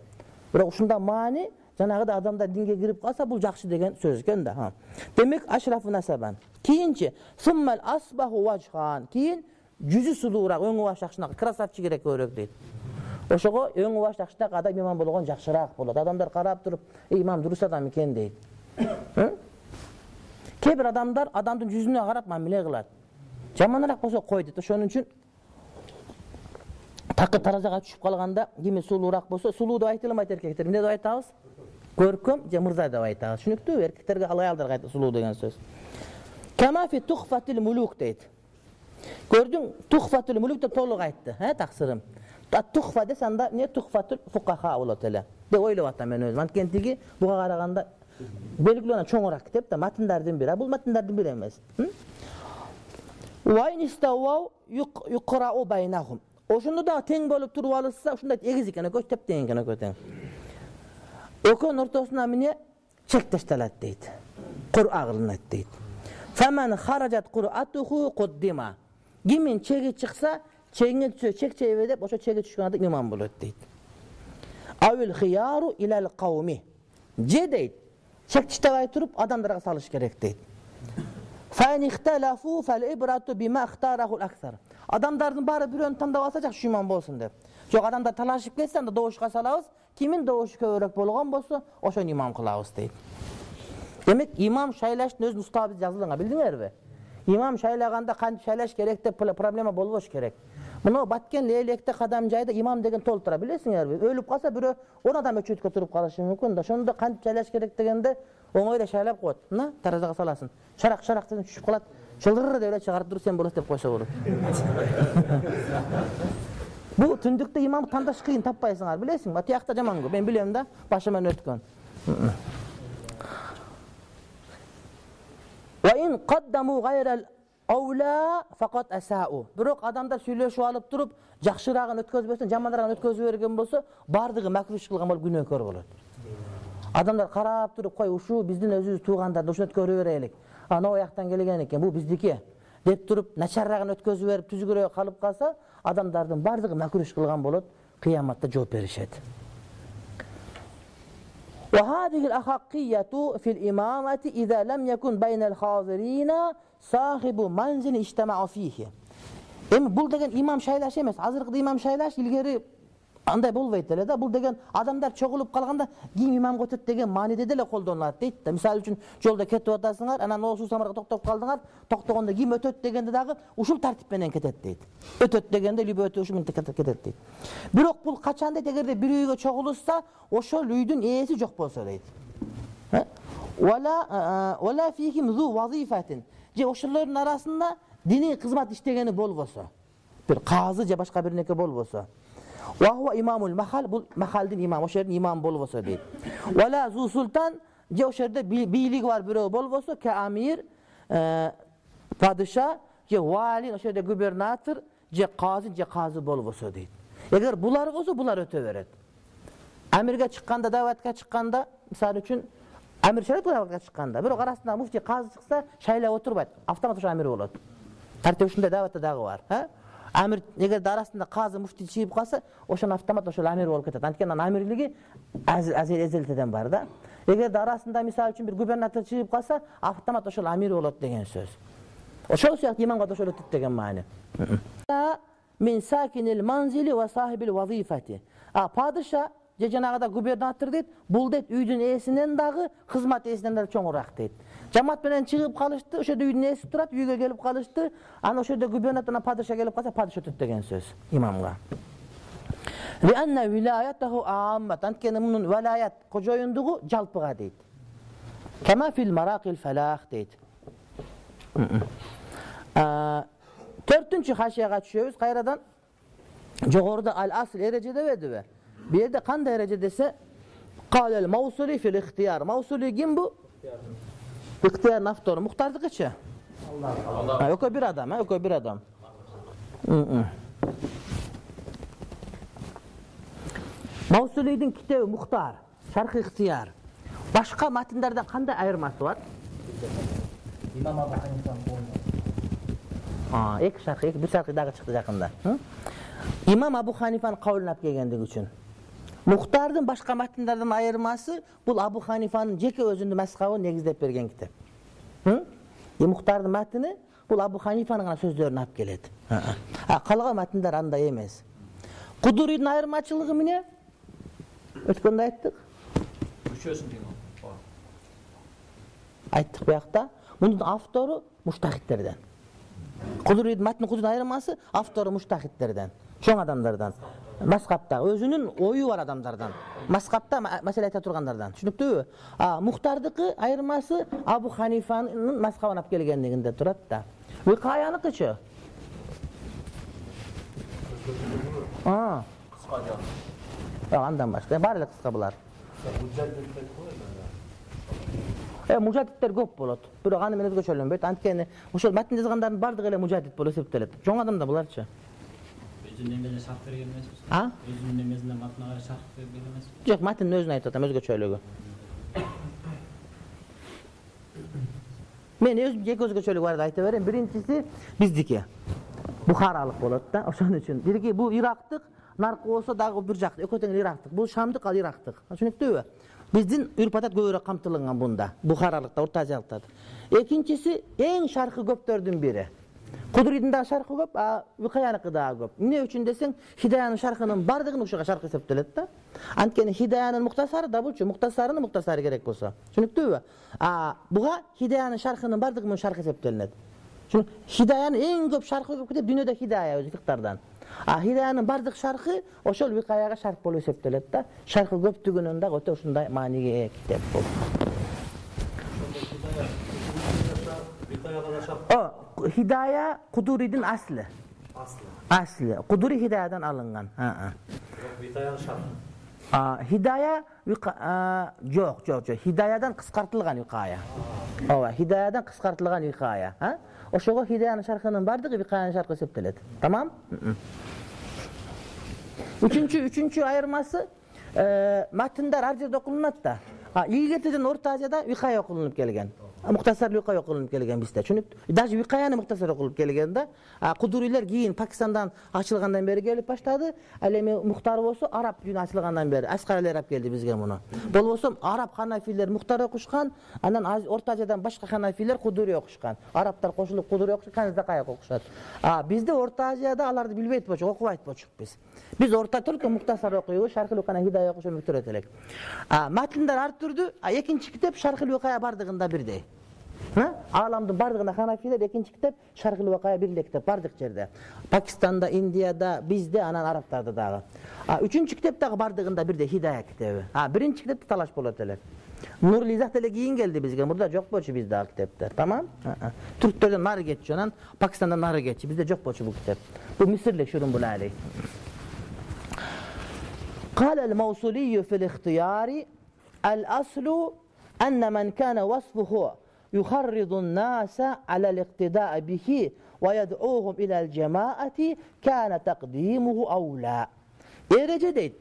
[SPEAKER 1] Biroq uşunda mani janagıda adamda dinge girip kalsa bu jakşı degen söz eken de. Ha. Demek aşrafı nasaban. Kiyinçi summal asbahu vajhan. Kiyin жүзү сулуураак, өңү баш жакшыраак, красавчик керек көрөк дейт. Ошого өңү баш жакшыраак адам имам болгон жакшыраак болот. Адамдар карап туруп, имам дурус адам экен дейт. Кээ бир адамдар адамдын жүзүнө карап мамиле кылат. Жаманыраак болсо кой дейт. Ошон үчүн такы таразага түшүп калганда кими сулуураак болсо, сулуу деп айта алмайт эркектер. Эмне деп айтабыз? Көркөм же мырза деп айтабыз. Түшүнүктүүбү? Эркектерге ал аялдарга айта сулуу деген сөз. Кама фи тухфатил мулук дейт. Көрдүң, тухфатил мулук деп толук айтты, ха, таксырым. Тухфа десе анда не тухфатул фукаха болот эле. Деп ойлоп атам мен өзүм. Анткени буга караганда белгилүү чоңураак китеп да, матындардын бири. А бул матындардын бири эмес. Ва инистауау юқрау байнахум. Ошондо да тең болуп туруп алышса, ушундай эгиз экен, экөө теп тең экен, экөө тең. Экөөнүн ортосуна эмне чек ташталат дейт. Кур'a кылынат дейт. Фаман харажат кур'атуху куддима. Кимин чеги чыкса, чегине түшө, чек чейбе деп, ошо чеги түшкөн адам имам болот дейт. Авил хияру илал кауми. Же дейт, чек таштабай туруп адамдарга салыш керек дейт. Фан ихталафу фал ибрату бима ихтараху ал-аксар. Адамдардын баары бирөөнү тандап алса жакшы имам болсун деп. Жок, адамдар талашып кетсе, анда добушка салабыз. Кимин добушу көбүрөөк болгон болсо, ошону имам кылабыз дейт. Демек, имам шайлаштын өзүнүн устабы жазылган, билдиңерби? Имам шайлаганда кантип шайлаш керек деп проблема болбош керек. Мына Баткен Лейлекте кадам жайда имам деген толтура, билесиңерби? Өлүп калса бирөө он адам өчөткө туруп калышы мүмкүн да. Ошондо кантип шайлаш керек дегенде оңойда шайлап коет. Мына таразага саласың. Шарак-шарак деген түшүп калат. Чылдыр деп эле чыгарып туруп сен болосуң деп койсо болот. Бу түндүктө имам тандаш кыйын, таппайсыңар, билесиңби? Атыякта жаман көп. Мен билем да, башыман өткөн. Ва ин каддаму гайрал аула фақат асау. Бирок адамдар сүйлөшүп алып туруп, жакшырагын өткөзбөсөн, жаманрагын өткөзүп берген болсо, бардыгы макруш кылган болуп күнөөкөр болот. Адамдар карап туруп, кой ушу биздин өзүбүз туугандарды ушуну өткөрүп берелик. Ана ояктан келген экен, бул биздики деп туруп, начаррагын өткөзүп берип, түзүгүрөөк калып калса, адамдардын бардыгы макруш кылган болот, кыяматта жооп беришет. وهذه الأحقية في الإمامة إذا لم يكن بين الحاضرين صاحب منزل اجتمع فيه. Эми бул деген имам шайлаш эмес. Азыркы имам шайлаш илгери андай болбойт эле да. Бул деген адамдар чогулуп калганда ким имамга өтөт деген мааниде деле колдонулат дейт да. Мисалы үчүн жолдо кетип атасыңар, анан ол суусамарга токтоп калдыңар, токтогондо ким өтөт дегенде дагы ушул тартип менен кетет дейт. Өтөт дегенде либо өтө ушул менен кетет дейт. Бирок бул качан дейт, эгерде бир үйгө чогулушса, ошол үйдүн ээси жок болсо дейт. Вала вала фихим зу вазифатин. Же ошолордун арасында диний кызмат иштегени болбосо, бир казы же башка бир неке болбосо. Ва хуа имамул махал, бул махалдын имамы, ошол жердин имам болбосо дейт. Вала зу султан, же ошол жерде бийлиги бар бирөө болбосо, ка амир, падыша, же вали, ошол жерде губернатор, же казы, же казы болбосо дейт. Эгер булар болсо, булар өтө берет. Амирге чыкканда, даватка чыкканда, мисалы үчүн амир шайлап даватка чыкканда, бирок арасында муфти казы чыкса, шайлап отурбайт, автомат ошо амир болот. Тартип ушундай даватта дагы бар, ха? Амир эгерде арасында казы муфти чыгып калса, ошон автомат ошол амир болуп кетет. Анткени анын амирлиги азел-эзелден бар да. Эгерде арасында мисалы үчүн бир губернатор чыгып калса, автомат ошол амир болот деген сөз. Ошол сыяктуу имамга да ошол өтөт деген маани. Мин сакинил манзили ва сахибил вазифати. А падыша же жанагыда губернатор дейт, бул дейт үйдүн ээсинен дагы, кызмат ээсинен дагы чоңураак дейт. Жамаат менен чыгып калышты, ошол үйдүн ээси турат, үйгө келип калышты, аны ошол жерде губернатордан падыша келип калса, падыша өтөт деген сөз имамга. Ли анна вилаятаху ааммат, анткени мунун вилаят кожоюндугу жалпыга дейт. Кама фил маракил фалах дейт. Төртүнчү хашияга түшөбүз, кайрадан жогоруда ал-асл эреже дебедиби? Бу жерде кандай эреже десе, калел маусули фил ихтияр. Маусули ким бу? Ихтияр автору Мухтардыкычы? Алла. Экөө бир адам, экөө бир адам. Маусулийдин китеби Мухтар, Шарх ихтияр. Башка матындардан кандай айырмасы бар?
[SPEAKER 2] Имам Абу Ханифанын колунда.
[SPEAKER 1] А, эки шарх, эки бир шархы дагы чыкты жакында. Имам Абу Ханифанын кабылын алып келгендиги үчүн. Мухтардын башка матындардан айырмасы бул Абу Ханифанын жеке өзүнүн мазхабын негиздеп берген китеп. И Мухтардын матыны бул Абу Ханифанын гана сөздөрүн алып келет. А калган матындар андай эмес. Кудурийдин айырмачылыгы эмне? Өткөндө айттык.
[SPEAKER 2] Үчөөсүн деген бар.
[SPEAKER 1] Айттык буякта. Мунун автору муштахиттерден. Кудурийдин матны кудурийдин айырмасы автору муштахиттерден. чоң адамдардан. Маскапта өзүнүн ою бар адамдардан. Маскапта маселе айта тургандардан. Түшүнүктүүбү? А мухтардыкы айырмасы Абу Ханифанын маскабын алып келгендигинде турат да. Викаяныкычы? А.
[SPEAKER 2] Кыска жак.
[SPEAKER 1] А, андан башка. Бар эле кыска булар. Э, мужадиттер көп болот. Бирок аны мен өзгөчөлөнбөйт. Анткени ошол матн жазгандардын бардыгы эле мужадит болуп эсептелет. Чоң адамдар буларчы?
[SPEAKER 2] Өзүнүн эмесине шарт берген эмеспиз.
[SPEAKER 1] А?
[SPEAKER 2] Өзүнүн эмесине матнага шарт берген эмеспиз.
[SPEAKER 1] Жок, матндын өзүн айтып атам, өзгөчөлүгү. Мен өзүм эки өзгөчөлүгү барды айта берем. Биринчиси биздики. Бухаралык болот да. Ошон үчүн бирги бул Ирактык, наркы болсо дагы бир жак, экөө тең Ирактык. Бул Шамдык, ал Ирактык. Түшүнүктүүбү? Биздин үрп-адат көбүрөөк камтылган бунда. Бухаралыкта, Орто Азиялыкта. Экинчиси эң шаркы көптөрдүн бири. Кудурийдин дагы шаркы көп, а Викаяныкы дагы көп. Эмне үчүн десең, Хидаянын шаркынын бардыгын ушуга шаркы эсептелет да. Анткени Хидаянын муктасары да булчу, муктасарынын муктасары керек болсо. Түшүнүктүүбү? А буга Хидаянын шаркынын бардыгы шаркы эсептелет. Чүн Хидаянын эң көп шаркы көп китеп дүйнөдө Хидая өзү фиктардан. А Хидаянын бардык шаркы ошол Викаяга шарк болуп эсептелет да. Шаркы көптүгүнөн дагы өтө ушундай мааниге ээ китеп бул. О, Хидая Кудурийдин асли.
[SPEAKER 3] Асли.
[SPEAKER 1] Асли. Кудури Хидаядан алынган. А-а.
[SPEAKER 3] Викаян шарт.
[SPEAKER 1] А Хидая жок, жок, жок. Хидаядан кыскартылган Викая. Ооба, Хидаядан кыскартылган Викая, а? Ошого Хидаянын шаркынын бардыгы Викаянын шаркы эсептелет. Тамам? Үчүнчү, үчүнчү айырмасы матындар ар жерде окулунат да. А илгертеден Орто Азияда Викая окулунуп келген. Муктасар Викая окулунуп келген бизде. Түшүнүп? Даже Викаяны муктасар окулуп келген да. А Кудурийлер кийин Пакистандан ачылгандан бери келип баштады. Ал эми Мухтар болсо араб дүйнө ачылгандан бери Аскаралер алып келди бизге муну. Болбосо араб ханафилер Мухтар окушкан, анан Орто Азиядан башка ханафилер Кудури окушкан. Арабтар кошулуп Кудури окушуп, Канзакая окушат. А бизде Орто Азияда аларды билбейт болчу, окубайт болчук биз. Биз орта только Муктасар окуйбуз, Шархил Викая Хидая окушуп өтүрөт элек. А матындар ар түрдүү, а экинчи китеп Шархил Викая бардыгында бирдей. Ааламдын бардыгына ханафилер, экинчи китеп Шархил Викая бир эле китеп бардык жерде. Пакистанда, Индияда, бизде, анан арабтарда дагы. А үчүнчү китеп дагы бардыгында бирдей Хидая китеби. А биринчи китепте талаш болот элек. Нурлы Изах деле кийин келди бизге. Мурда жок болчу бизде ал китептер. Тамам? Түрктөрдөн нары кетчү, анан Пакистандан нары кетчү. Бизде жок болчу бул китеп. Бул Мисирлик Шурун Булали. قال الموصلي في الاختيار الأصل أن من كان وصفه يخرض الناس على الاقتداء به ويدعوهم إلى الجماعة كان تقديمه أولى. Ereje deyt.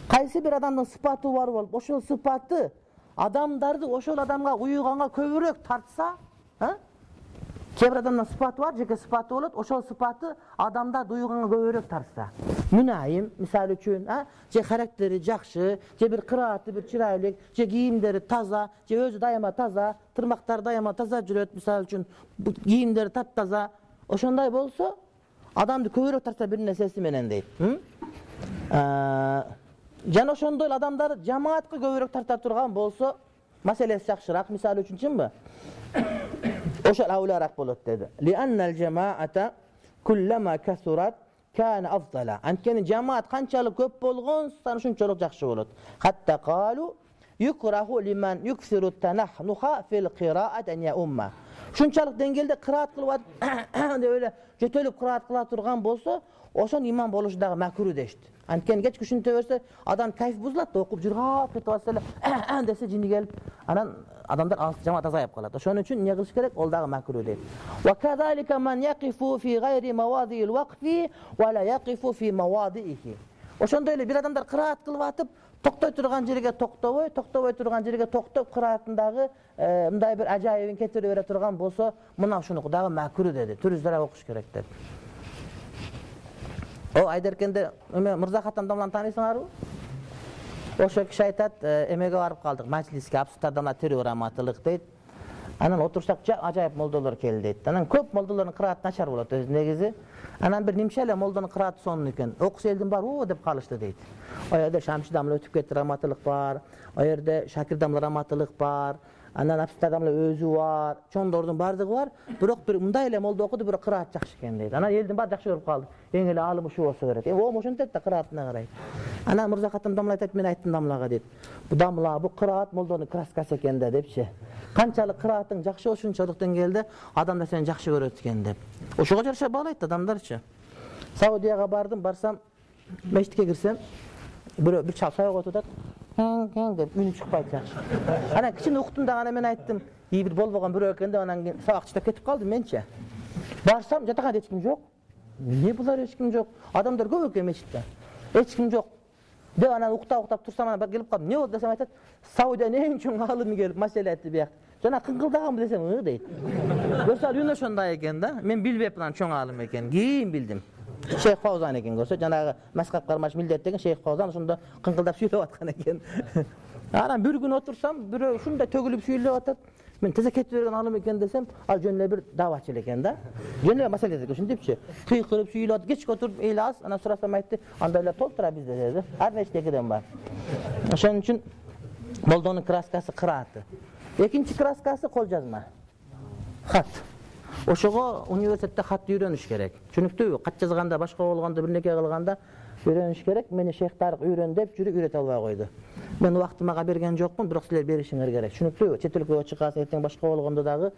[SPEAKER 1] Кайсы бир адамдын сыпаты бар болуп, ошол сыпаты адамдарды ошол адамга уйганга көбүрөөк тартса, а? Кээ бир адамдын сыпаты бар, жеке сыпаты болот, ошол сыпаты адамдарды уйганга көбүрөөк тартса. Мүнайым, мисалы үчүн, а? Же характери жакшы, же бир кырааты бир чырайлык, же кийимдери таза, же өзү дайыма таза, тырмактары дайыма таза жүрөт, мисалы үчүн, кийимдери таптаза. Ошондой болсо, адамды көбүрөөк тарта бир нерсеси менен дейт. Жана ошондой эле адамдар жамаатка көбүрөөк тарта турган болсо, маселеси жакшыраак, мисалы үчүн чынбы? Ошол аулараак болот деди. Лианнал жамаата куллама касурат kana afdala. Анткени жамаат канчалык көп болгон сан ушунчалык жакшы болот. Хатта калу юкраху лиман юксиру танахнуха фил кираат ан я умма. Ушунчалык деңгээлде кыраат кылып деп эле жөтөлүп кыраат кыла турган болсо, ошон имам болушу дагы макру дешти. Анткени кеч күшүнтө берсе, адам кайф бузулат да, окуп жүргап кетип атса эле десе жини келип, анан адамдар жамаат азайып калат. Ошон үчүн эмне кылыш керек? Ол дагы макру дейт. Ва кадалика ман яқифу фи гайри мавадиил вақфи ва ла яқифу фи мавадиихи. Ошондой эле бир адамдар кыраат кылып атып, токтой турган жерге токтобой, токтобой турган жерге токтоп кыраатындагы мындай бир ажайыбын кетире бере турган болсо, мына ушунуку дагы макру деди. Түрүздөөрөөк окуш керек деп. О Айдеркенде эме Мырза Хатам Дамланы тааныйсыңарбы? Ошо киши айтат, эмеге барып калдык, маҗлиске, абсурдтардан тирүү раматылык дейт. Анан отурсак ажайып молдолор келди дейт. Анан көп молдолордун кырааты начар болот өз негизи. Анан бир нимче эле молдонун кырааты сонун экен. Окуса элдин баары оо деп калышты дейт. О жерде Шамши Дамла өтүп кетти, раматылык бар. О жерде Шакир Дамла раматылык бар. Анан Амстердамда өзү бар, чоңдордун бардыгы бар. Бирок бир мындай эле молдо окуду, бирок кыраат жакшы экен дейт. Анан элдин баары жакшы көрүп калды. Эң эле алым ушу болсо керек. Э, о, ошентет да кыраатына карайт. Анан Мырза Каттам дамла айтат, мен айттым дамлага дейт. Бу дамла, бу кыраат молдонун краскасы экен да депчи. Канчалык кыраатың жакшы ошончолук деңгээлде адамдар сени жакшы көрөт экен деп. Ошого жараша баалайт адамдарчы. Саудияга бардым, барсам, мечитке кирсем, бирөө бир чал саягат отурат. Кен деп үнү чыкпайт жакшы. Анан кичине уктум да, анан мен айттым, и бир болбогон бирөө экен деп, анан кийин сабак чыктап кетип калдым менчи. Барсам, жатаканда эч ким жок. Эмне булар, эч ким жок? Адамдар көп экен мечитте. Эч ким жок. Деп анан уктап-уктап турсам, анан бар келип калдым. Эмне болду десем, айтат, Саудиянын эң чоң алымы келип маселе айтты бияк. Жана кыңкылдаганбы десем, ы дейт. Көрсө үн ошондой экен да. Мен билбепмин анан чоң алым экен. Кийин билдим. Шейх Фаузан экен көрсө, жанагы Маскат кармаш милдет деген Шейх Фаузан ошондо кыңкылдап сүйлөп аткан экен. Анан бир күн отурсам, бирөө ушундай төгүлүп сүйлөп атат. Мен тез кетип берген алым экен десем, ал жөн эле бир давачыл экен да. Жөн эле маселе экен ушинтипчи. Кыйкырып сүйлөп атат, кечке отуруп эли аз, анан сурасам айтты, андайлар толтура бизде деди. Ар нечтекеден бар. Ошон үчүн молдонун краскасы кырааты. Экинчи краскасы кол жазма. Хат. Ошого университетте хатты үйрөнүш керек. Түшүнүктүүбү? Кат жазганда, башка болгондо, бир нерсе кылганда үйрөнүш керек. Мени Шейх Тарык үйрөн деп жүрүп үйрөтө албай койду. Мен убактымага берген жокмун, бирок силер беришиңер керек. Түшүнүктүүбү? Чет өлкөгө чыкасың, эртең башка болгондо дагы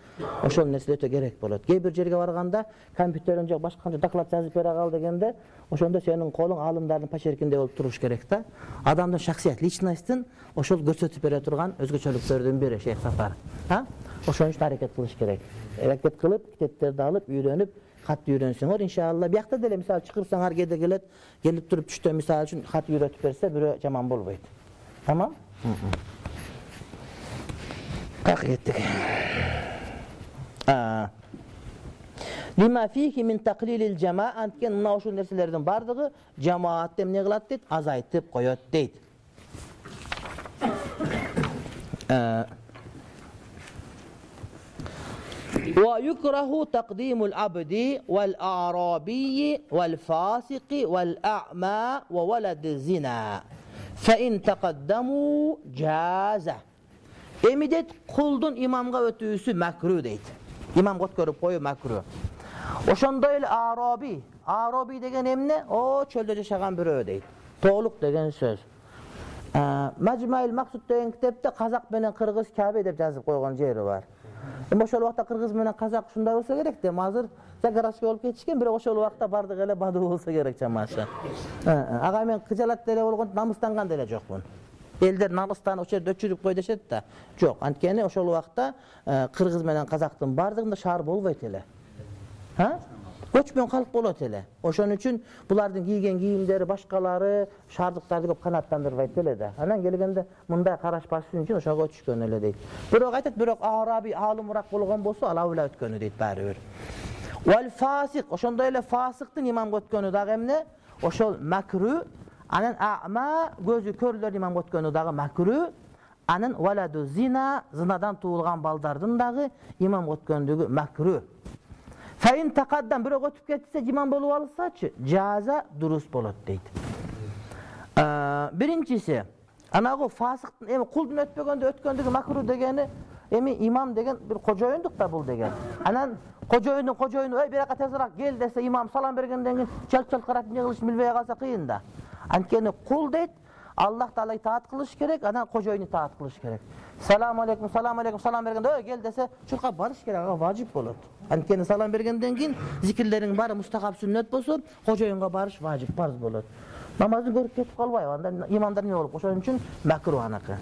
[SPEAKER 1] ошол нерсе өтө керек болот. Кээ бир жерге барганда компьютерден жок башка канча доклад жазып бере кал дегенде, ошондо сенин колуң алымдардын почеркинде болуп туруш керек да. Адамдын шахсият, личностун ошол көрсөтүп бере турган өзгөчөлүктөрдүн бири Шейх Сафар. Ha? Ошон үчүн аракет кылыш керек. Аракет кылып, китептерди алып, үйрөнүп, хат үйрөнсөңөр, иншалла. Биякта деле мисалы чакырсаңар кээде келет, келип туруп түштө мисалы үчүн хат үйрөтүп берсе, бирөө жаман болбойт. Tamam? Kalk gittik. Lima fihi min taqlilil cemaat antken mına uşul nerselerden bardığı cemaat dem ne kılat deyt, azaytıp koyot deyt. Ve yukrahu taqdimul abdi vel a'rabiyyi vel fasiqi vel a'ma ve veled zina. فَاِنْ تَقَدَّمُوا جَازَ. Emidet kuldun imamga ötüsü makruh deydi. İmam got görüp koyu makruh. Oşonda el Arabi. Arabi degen emne? O çölde yaşagan birö deydi. Toğluk degen söz. Majmail Maksud degen kitepte Kazak menen Kırgız Kabe dep yazıp koygan jeri var. Oşol wagtda Kırgız menen Kazak şunday bolsa gerek de, hazır Zagarasga olup ketişken, bирок ошол убакта бардык эле бадуу болсо керек чамасы. Ага мен кыжалат деле болгон, намыстанган деле жокмун. Элдер намыстан ошо жерде өчүрүп кой дешет да. Жок, анткени ошол убакта Кыргыз менен Казактын бардыгында шаар болбойт эле. Ha? Көчмөн калк болот эле. Ошон үчүн булардын кийген кийимдери башкалары шаардыктарды көп канааттандырбайт эле да. Анан келгенде мындай караш баш үчүн ошого түшкөн эле дейт. Бирок айтат, бирок Араби алымыраак болгон болсо, ал аула өткөнү дейт баары бир. Vel fasik, oşonda ele fasıktın imam götkönü dağı emne, oşol makruh, anan a'ma, gözü körler imam götkönü dağı makruh, anan veladu zina, zinadan tuğulgan baldardın dağı imam götkönüdüğü makruh. Fein taqaddan biri götüp ketse imam bolup alırsaçı, caza durus bolot deydi. Birincisi, anağı fasıktın, emi kuldun ötpegönde ötköndüğü makruh degeni, emi imam degen bir koca oyunduk da bul degen. Anan Kojoyunu kojoyunu ey bir tezrak gel dese imam salam bергенден кийин чалт-чалт карап эмне кылыш билбей калса кыйын да. Анткени кул дейт, Аллах Таалага итаат кылыш керек, анан кожоюна итаат кылыш керек. Салам алейкум, салам алейкум, салам бергенде ey gel dese чуркап барыш керек, ага важип болот. Анткени салам бергенден кийин зикирлерин баары мустахаб сүннөт болсо, кожоюнга барыш важип, парз болот. Намазды көрүп кетип калбайбы, анда имамдар эмне болуп, ошон үчүн макрух анакы.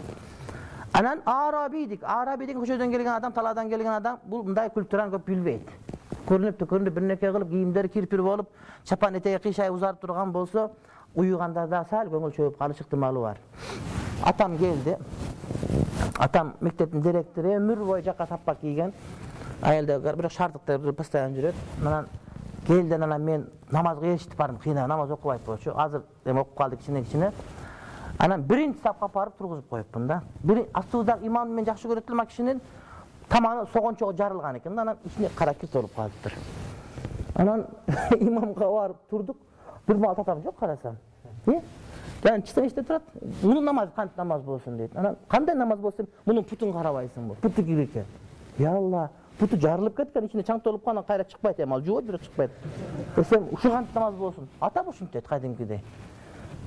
[SPEAKER 1] Anan Arabi dik. Arabi деген көчөдөн келген адам, талаадан келген адам бул мындай культураны көп билбейт. Көрүнүптү, көрүнүп бир нерсе кылып, кийимдери кирпир болуп, чапан этеги кыйшай узарып турган болсо, уюганда да сал көңүл чөйүп калыш ыктымалы бар. Атам келди. Атам мектептин директору, өмүр бою жакка таппак кийген. Айылда бирок шаардыкта постоянно жүрөт. Анан келди, анан мен намазга эшитип бардым, кыйнап намаз окубайт болчу. Азыр эми окуп калды кичине-кичине. Анан биринчи сапка барып тургузуп коюпмун да. Бир астыдагы имам мен жакшы көрөт элем, кишинин тамагы согончого жарылган экен. Анан ичине кара кир толуп калыптыр. Анан имамга барып турдук. Бир мал татам жок карасам. Э? Жана чыксаң эчте турат. Мунун намазы кантип намаз болсун дейт. Анан кандай намаз болсун? Мунун путун карабайсыңбы? Путу кир экен. Я Алла, путу жарылып кеткен, ичине чаң толуп калган, кайра чыкпайт эми, ал жууп бирок чыкпайт. Десем, ушул кантип намаз болсун? Ата ушинтет кадимкидей.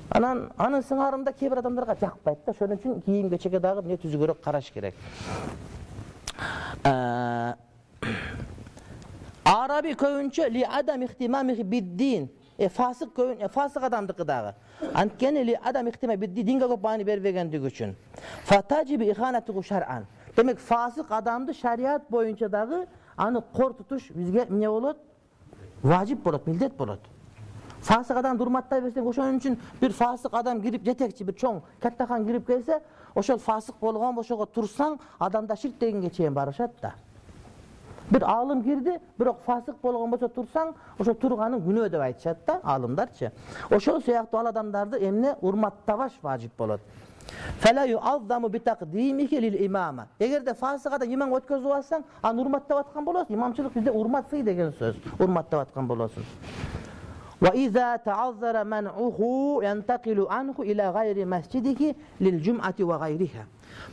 [SPEAKER 1] Анан анын сыңарында кээ бир адамдарга жакпайт да, ошон үчүн кийим кечеге дагы эмне түзүгөрөөк караш керек. Араби көбүнчө ли адам ихтимами биддин. Э фасык көбүн, э фасык адамдыкы дагы. Анткени ли адам ихтимами биддин динге көп маани бербегендиги үчүн. Фатажиби иханату шар'ан. Демек фасык адамды шариат боюнча дагы аны кор тутуш бизге эмне болот? Важип болот, милдет болот. Фасык адамды урматтай берсең, ошон үчүн бир фасык адам кирип, жетекчи бир чоң каттахан кирип келсе, ошол фасык болгон ошого турсаң, адамда ширк дегенге чейин барышат да. Bir alım girdi, бирок фасык болгон болсо турсаң, ошо турганын күнөө деп айтышат да, алымдарчы. Ошол сыяктуу ал адамдарды эмне урматтабаш важип болот. Фала ю'аззаму битaqdimihi lil-imama. Эгерде фасык адам имам өткөзүп алсаң, аны урматтап аткан болосуң. Имамчылык бизде урмат сый деген сөз. Урматтап аткан болосуң. Wa iza ta'azzara man'uhu yantaqilu anhu ila ghayri masjidihi lil-jum'ati wa ghayriha.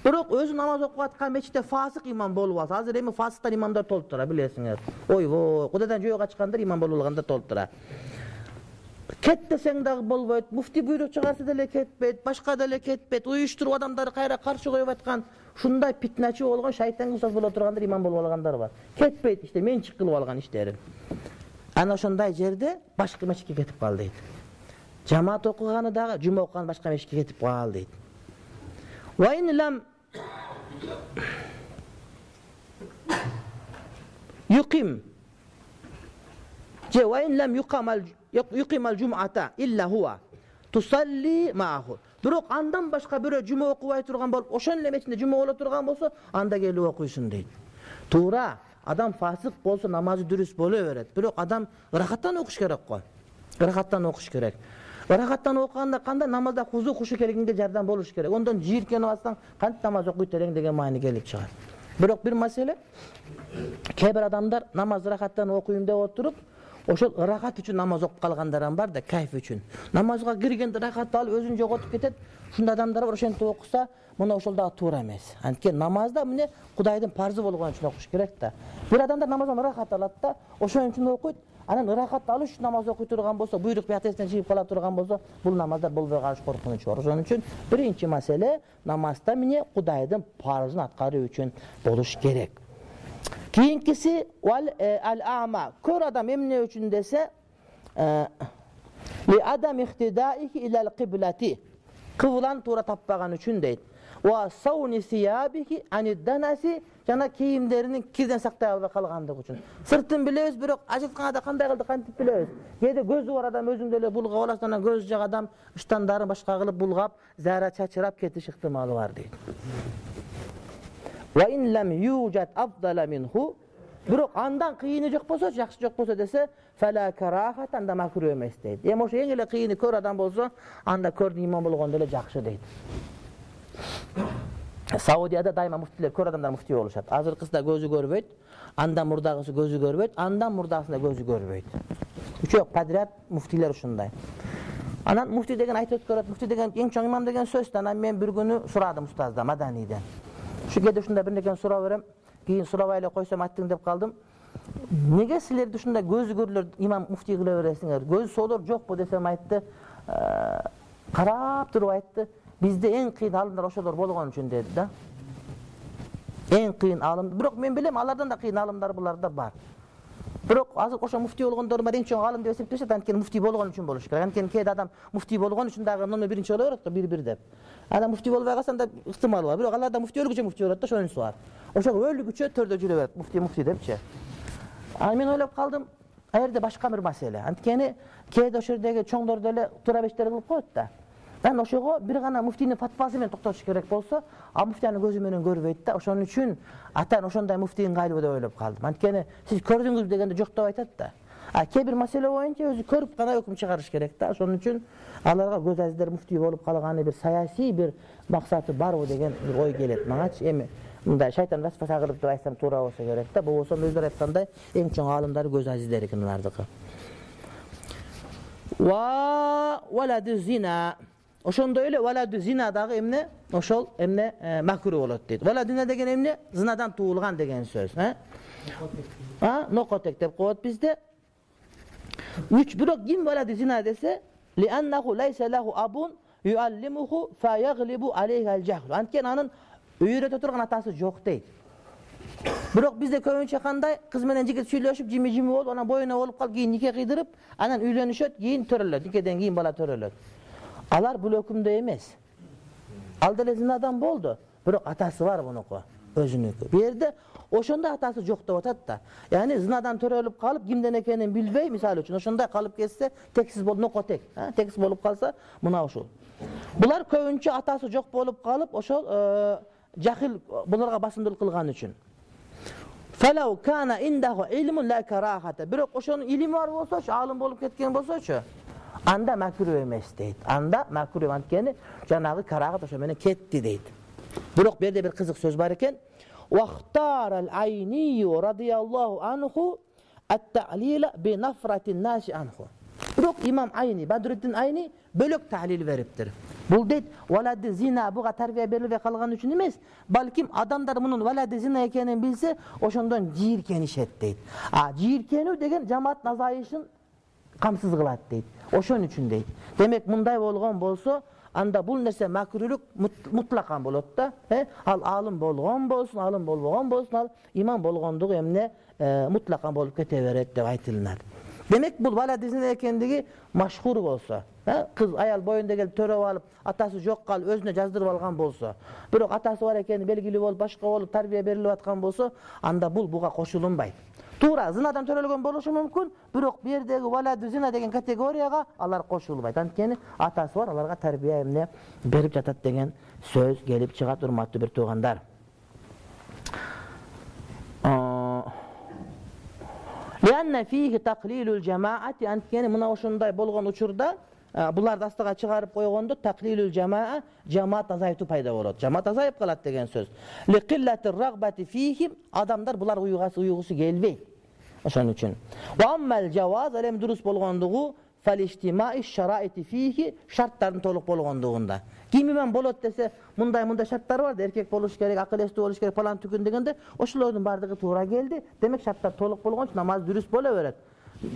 [SPEAKER 1] Бирок өзү намаз окуп аткан мечитте фасык имам болуп алса, азыр эми фасыктар имамдар толуп тура, билесиңер. Ойбой, Кудайдан жөө качкандар имам болуп алгандар толуп тура. Кет десең дагы болбойт, муфти буйрук чыгарса деле кетпейт, башка деле кетпейт, уюштуруп адамдарды кайра каршы коюп аткан, ушундай питначы болгон, шайтанга уксас боло тургандар имам болуп алгандар бар. Кетпейт иште, мен чык кылып алган иштерин. Ана ошондой жерде башка мечитке кетип кал дейт. Жамаат окуганы дагы, жума окуган башка мечитке кетип кал дейт. Wa in lam yuqim je wa in lam yuqam al yuqim al jum'ata illa huwa tusalli ma'ahu. Бирок андан башка бирөө жума окубай турган болуп, ошон эле мечитте жума боло турган болсо, анда келип окуйсуң дейт. Туура, адам фасык болсо намазы дұрыс боло берет. Бирок адам ырахаттан окуш керек го. Ырахаттан окуш керек. Ырахаттан окуганда кандай намазда хузу хушу келгенге жардам болуш керек. Ондон жийиркенип алсаң, кантип намаз окуйт элең деген маани келип чыгат. Бирок бир маселе, кээ бир адамдар намаз ырахаттан окуйм деп отуруп, ошол ырахат үчүн намаз окуп калгандар бар да, кайф үчүн. Намазга киргенде ырахат алып өзүн жоготуп кетет. Ушундай адамдар бар, ошентип окуса, мына ошол дагы туура эмес. Анткени намазда эмне Кудайдын парзы болгон үчүн окуш керек да. Бир адамдар намаздан ырахат алат да, ошон үчүн окуйт. Анан ырахат алыш үчүн намаз окуй турган болсо, буйрук биятесинен жигип кала турган болсо, бул намаздар болбой калыш коркунучу бар. Ошон үчүн биринчи маселе намазда эмне Кудайдын парзын аткаруу үчүн болуш керек. Кийинкиси вал ал-ама. Көр адам эмне үчүн десе, ли адам ихтидаихи илал киблати. Кыбланы туура таппаган үчүн дейт. Ва сауни сиябихи анидданаси, жана кийимдеринин кирден сактай албай калгандыгы үчүн. Сыртын билебиз, бирок ажытканда кандай кылды кантип билебиз. Кээде көзү бар адам өзүң деле булгап аласың, анан көзү жак адам ыштандарын башка кылып булгап, зара чачырап кетиш ыктымалы бар дейт. Ва ин лам южат афдала минху. Бирок андан кыйыны жок болсо, жакшы жок болсо десе, фала карахат, анда макруh эмес дейт. Эми ошо эң эле кыйыны көр адам болсо, анда көрдүн имам болгондо эле жакшы дейт. Саудияда дайыма муфтилер, көр адамдар муфти болушат. Азыркысында көзү көрбөйт, андан мурдагысы көзү көрбөйт, андан мурдагысында көзү көрбөйт. Үчөө подряд муфтилер ушундай. Анан муфти деген айтып өткөрөт, муфти деген эң чоң имам деген сөз. Анан мен бир күнү сурадым устаздан, Маданийден. Şu kede ушундай бир нерсени сурап берем, кийин сурабай эле койсом аттың деп калдым. Неге силерди ушундай көзү көрүлөр имам муфти кыла бересиңер? Көзү солор жокпу десем айтты, карап туруп айтты. Бизде эң кыйын алымдар ошолор болгон үчүн деди да. Эң кыйын алым. Бирок мен билем, алардан да кыйын алымдар буларда бар. Бирок азыр ошо муфти болгондор бар, эң чоң алым деп эсептешет, анткени муфти болгон үчүн болуш керек. Анткени кээде адам муфти болгон үчүн дагы номер биринчи боло берет го, бир-бир деп. Адам муфти болбой калса анда ыктымалы бар. Бирок аларда муфти өлгүчө муфти болот да, ошонусу бар. Ошо өлгүчө төрдө жүрө берет, муфти муфти депчи. Аны мен ойлоп калдым, а жерде башка бир маселе. Анткени кээде ошо жердеги чоңдор деле туура бештер кылып коет да. Анан ошого бир гана муфтинин фатвасы менен токтотуш керек болсо, а муфти аны көзү менен көрбөйт да. Ошон үчүн атан ошондой муфти ыңгайлуу деп ойлоп калдым. Анткени сиз көрдүңүз дегенде жок деп айтат да. А кээ бир маселе боюнча өзү көрүп гана өкүм чыгарыш керек да. Ошон үчүн аларга көз азиздер муфти болуп калганы бир саясий бир максаты барбы деген бир ой келет маңачы. Эми мындай шайтан васваса кылып деп айтсам туура болсо керек да. Болбосо өздөрү айткандай эң чоң аалымдар көз азиздер экенлардыкы. Ва валаду зина. ошондой эле валаду зина дагы эмне? Ошол эмне макруh болот дейт. Валаду зина деген эмне? Зынадан туулган деген сөз, э? А, нокотек деп коет бизде. Үч бирок ким валаду зина десе, ли аннаху лайса лаху абун юаллимуху фа яглибу алейхи аль-жахл. Анткени анын үйрөтө турган атасы жок дейт. Бирок бизде көбүнчө кандай? Кыз менен жигит сүйлөшүп, жими-жими болуп, анан боюна болуп калып, кийин нике кыйдырып, анан үйлөнүшөт, кийин төрөлөт. Никеден кийин бала төрөлөт. Алар бул өкүмдө эмес. Ал деле зинадан болду, бирок атасы бар мунуку, өзүнүкү. Бу жерде ошондой атасы жок деп атат да. Яни зинадан төрөлүп калып, кимден экенин билбей, мисалы үчүн ошондой калып кетсе, тексиз болуп, нокотек, а, тексиз болуп калса, мына ушул. Булар көбүнчө атасы жок болуп калып, ошол жахил буларга басымдуулук кылган үчүн. Фалау кана индаху илмун ла карахата. Бирок ошонун илими бар болсочу, алым болуп кеткен болсочу, анда макруh эмес дейт. Анда макруh анткени жанагы карахат ошо менен кетти дейт. Бирок бу жерде бир кызык сөз бар экен. Вахтарал айни радияллаху анху ат-та'лила би нафратин наси анху. Бирок имам Айни, Бадруддин Айни бөлөк таhlil бериптир. Бул дейт, валади зина буга тарбия берилбей калган үчүн эмес, балким адамдар мунун валади зина экенин билсе, ошондон жийиркенишет дейт. А жийиркенүү деген жамааттын азайышын камсыз кылат дейт. Ошон үчүн дейт. Демек мындай болгон болсо, анда бул нерсе макрулук мутлакан болот да. Э? Ал алым болгон болсун, алым болбогон болсун, ал имам болгондугу эмне мутлакан болуп кете берет деп айтылат. Демек бул валади зина экендиги машхур болсо, кыз аял боюнда келип төрөп алып, атасы жок калып өзүнө жаздырып алган болсо, бирок атасы бар экени белгилүү болуп, башка болуп тарбия берилип аткан болсо, анда бул буга кошулунбайт. Туура зынадан төрөлгөн болушу мүмкүн, бирок бу жердеги валаду зина деген категорияга алар кошулбайт. Анткени атасы бар, аларга тарбия эмне берип жатат деген сөз келип чыгат, урматтуу бир туугандар. Лианна фихи тaqlilul жамаати, анткени мына ошондой болгон учурда буларды астыга чыгарып койгондо taqlilul жамаа, жамаат азайтуу пайда болот. Жамаат азайып калат деген сөз. Ли qillati рагбати фихим, адамдар булар уйгасы уйгусу келбейт. Ошон үчүн. Ва аммал жаваз, элем дурус болгондугу фалиштимаи шараити фихи, шарттардын толук болгондугунда. Ким имам болот десе, мындай мындай шарттар бар, эркек болуш керек, акыл эстүү болуш керек, палан түкүн дегенде, ошолордун бардыгы туура келди. Демек шарттар толук болгон үчүн намаз дурус боло берет.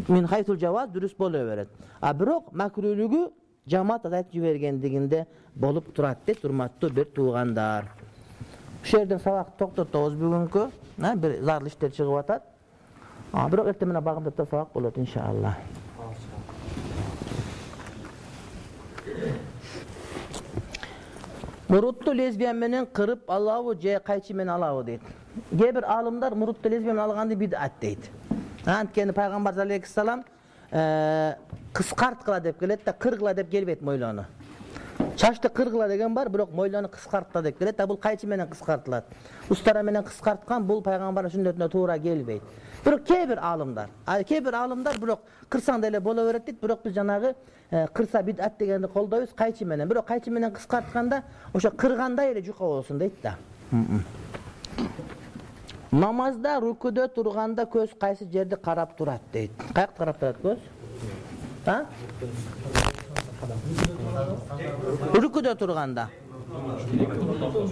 [SPEAKER 1] Мин хайтул жаваз дурус боло берет. А бирок макрулугу жамаат азайтып жибергендигинде болуп турат дейт, урматтуу бир туугандар. Ушул жерден сабак токтотобуз бүгүнкү. Бир зарыл иштер чыгып атат. А бирок эртең менен багымдап сабак болот иншалла. Мурутту лесбиян менен кырып алабы же кайчы менен алабы дейт. Кээ бир алымдар мурутту лесбиян менен алганды бидат дейт. Анткени пайгамбар алейхиссалам кыскарткыла деп келет да, кыргыла деп келбейт мойлону. Чачты кыргыла деген бар, бирок мойлону кыскартта деп келет да, бул кайчы менен кыскартылат. Устара менен кыскарткан бул пайгамбардын сүннөтүнө туура келбейт. Бирок кээ бир алымдар, кээ бир алымдар бирок кырсаң деле боло берет дейт, бирок биз жанагы кырса бидат дегенди колдойбуз кайчы менен. Бирок кайчы менен кыскартканда ошо кыргандай эле жука болсун дейт да. Намазда рукуде турганда көз кайсы жерди карап турат дейт. Каякты карап турат көз? А? Рукуде турганда.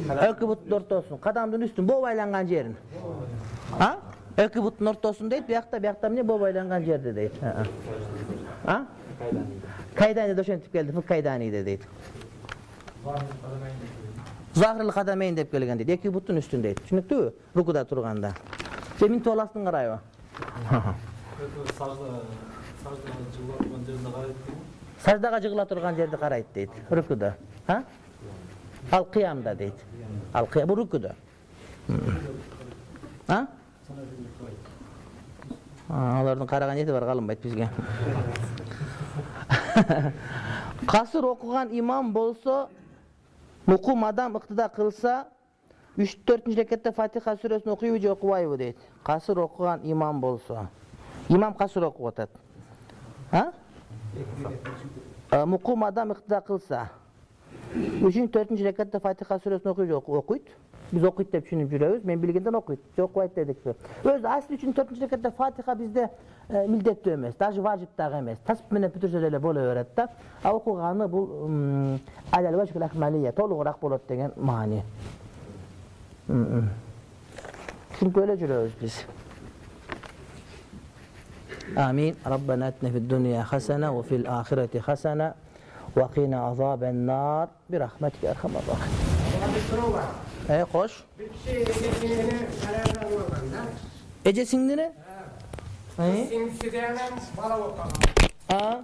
[SPEAKER 1] Эки буттун ортосун, кадамдын үстүн, боо байланган жерин. А? Эки буттун ортосун дейт, биякта, биякта эмне боо байланган жерди дейт. А? Кайдани да ошентип келди, фык кайдани дейт. Захрыл кадамейн деп келген дейт. Эки буттун үстүн дейт. Түшүнүктүүбү? Рукуда турганда. Сен минтип аласың карайбы? Саждага жыгыла турган жерди карайт дейт. Рукуда. А? Ал кыямда дейт. Ал кыям бу рукуда. А? Алардын караган эти бар, калынбайт бизге. Касыр окуган имам болсо, мукум адам ыктыда кылса, үч төртүнчү рекетте Фатиха сүрөсүн окуйбу же окубайбы дейт. Касыр окуган имам болсо. Имам касыр окуп атат. А? Мукум адам ыктыда кылса, үчүнчү төртүнчү рекетте Фатиха сүрөсүн окуйбу же окуйт. Biz okuyup dep düşünüp жүрөбүz. Men билгенден окуйт, же окубайт дедикпи. Өзү асл үчүн төртүнчү рекатта Фатиха бизде милдеттүү эмес, даже важип дагы эмес. Тасбих менен бүтүрсө деле боло берет да. А окуганы бул алал важбул акмалия, толугураак болот деген маани. Ушинтип эле жүрөбүз биз. آمين. ربنا آتنا في الدنيا حسنة وفي الآخرة حسنة وقنا عذاب النار برحمتك يا أرحم الراحمين. ايه خوش. Ecesinde ne?
[SPEAKER 4] Sinsideğinin bala okala.
[SPEAKER 1] Ha?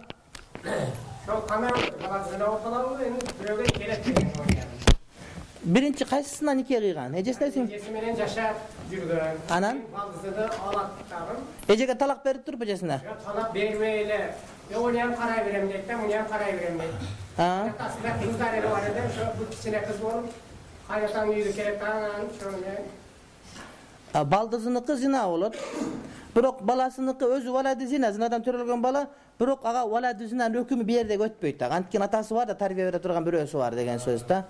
[SPEAKER 4] Şu kamera balasına okala endi büröge kelep деген oynayan.
[SPEAKER 1] Birinci kaysısından nikiye kıygan? Ecesinde sin?
[SPEAKER 4] Ecesi menen жашап жүргөн.
[SPEAKER 1] Anan?
[SPEAKER 4] Baldızını alak tagın.
[SPEAKER 1] Ecege talak berip durup ecesine?
[SPEAKER 4] Ya talak bermeyle. Ya onu hem karay verem deyip de bunu hem karay verem deyip.
[SPEAKER 1] Ha?
[SPEAKER 4] Aslında kızlar eli var eden şu bu kişine kız bolup kaynatan yüzü kelep tagın şöyle.
[SPEAKER 1] Baldızınıkı zina olur. Bирок баласыныкы өзү валады зина, зинадан төрөлгөн бала, бирок ага валады зинанын өкүмү бир жерде өтпөйт да. Анткени атасы бар да, тарбия бере турган бирөөсү бар деген сөз да.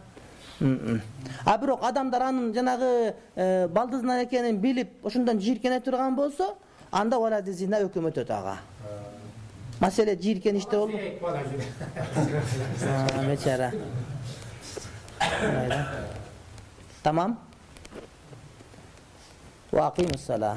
[SPEAKER 1] А бирок адамдар анын жанагы балдызынан экенин билип, ошондон жийиркене турган болсо, анда валады зина өкүмү өтөт ага. Маселе жийиркениште болду. Мечара. Tamam. وأقيموا الصلاة.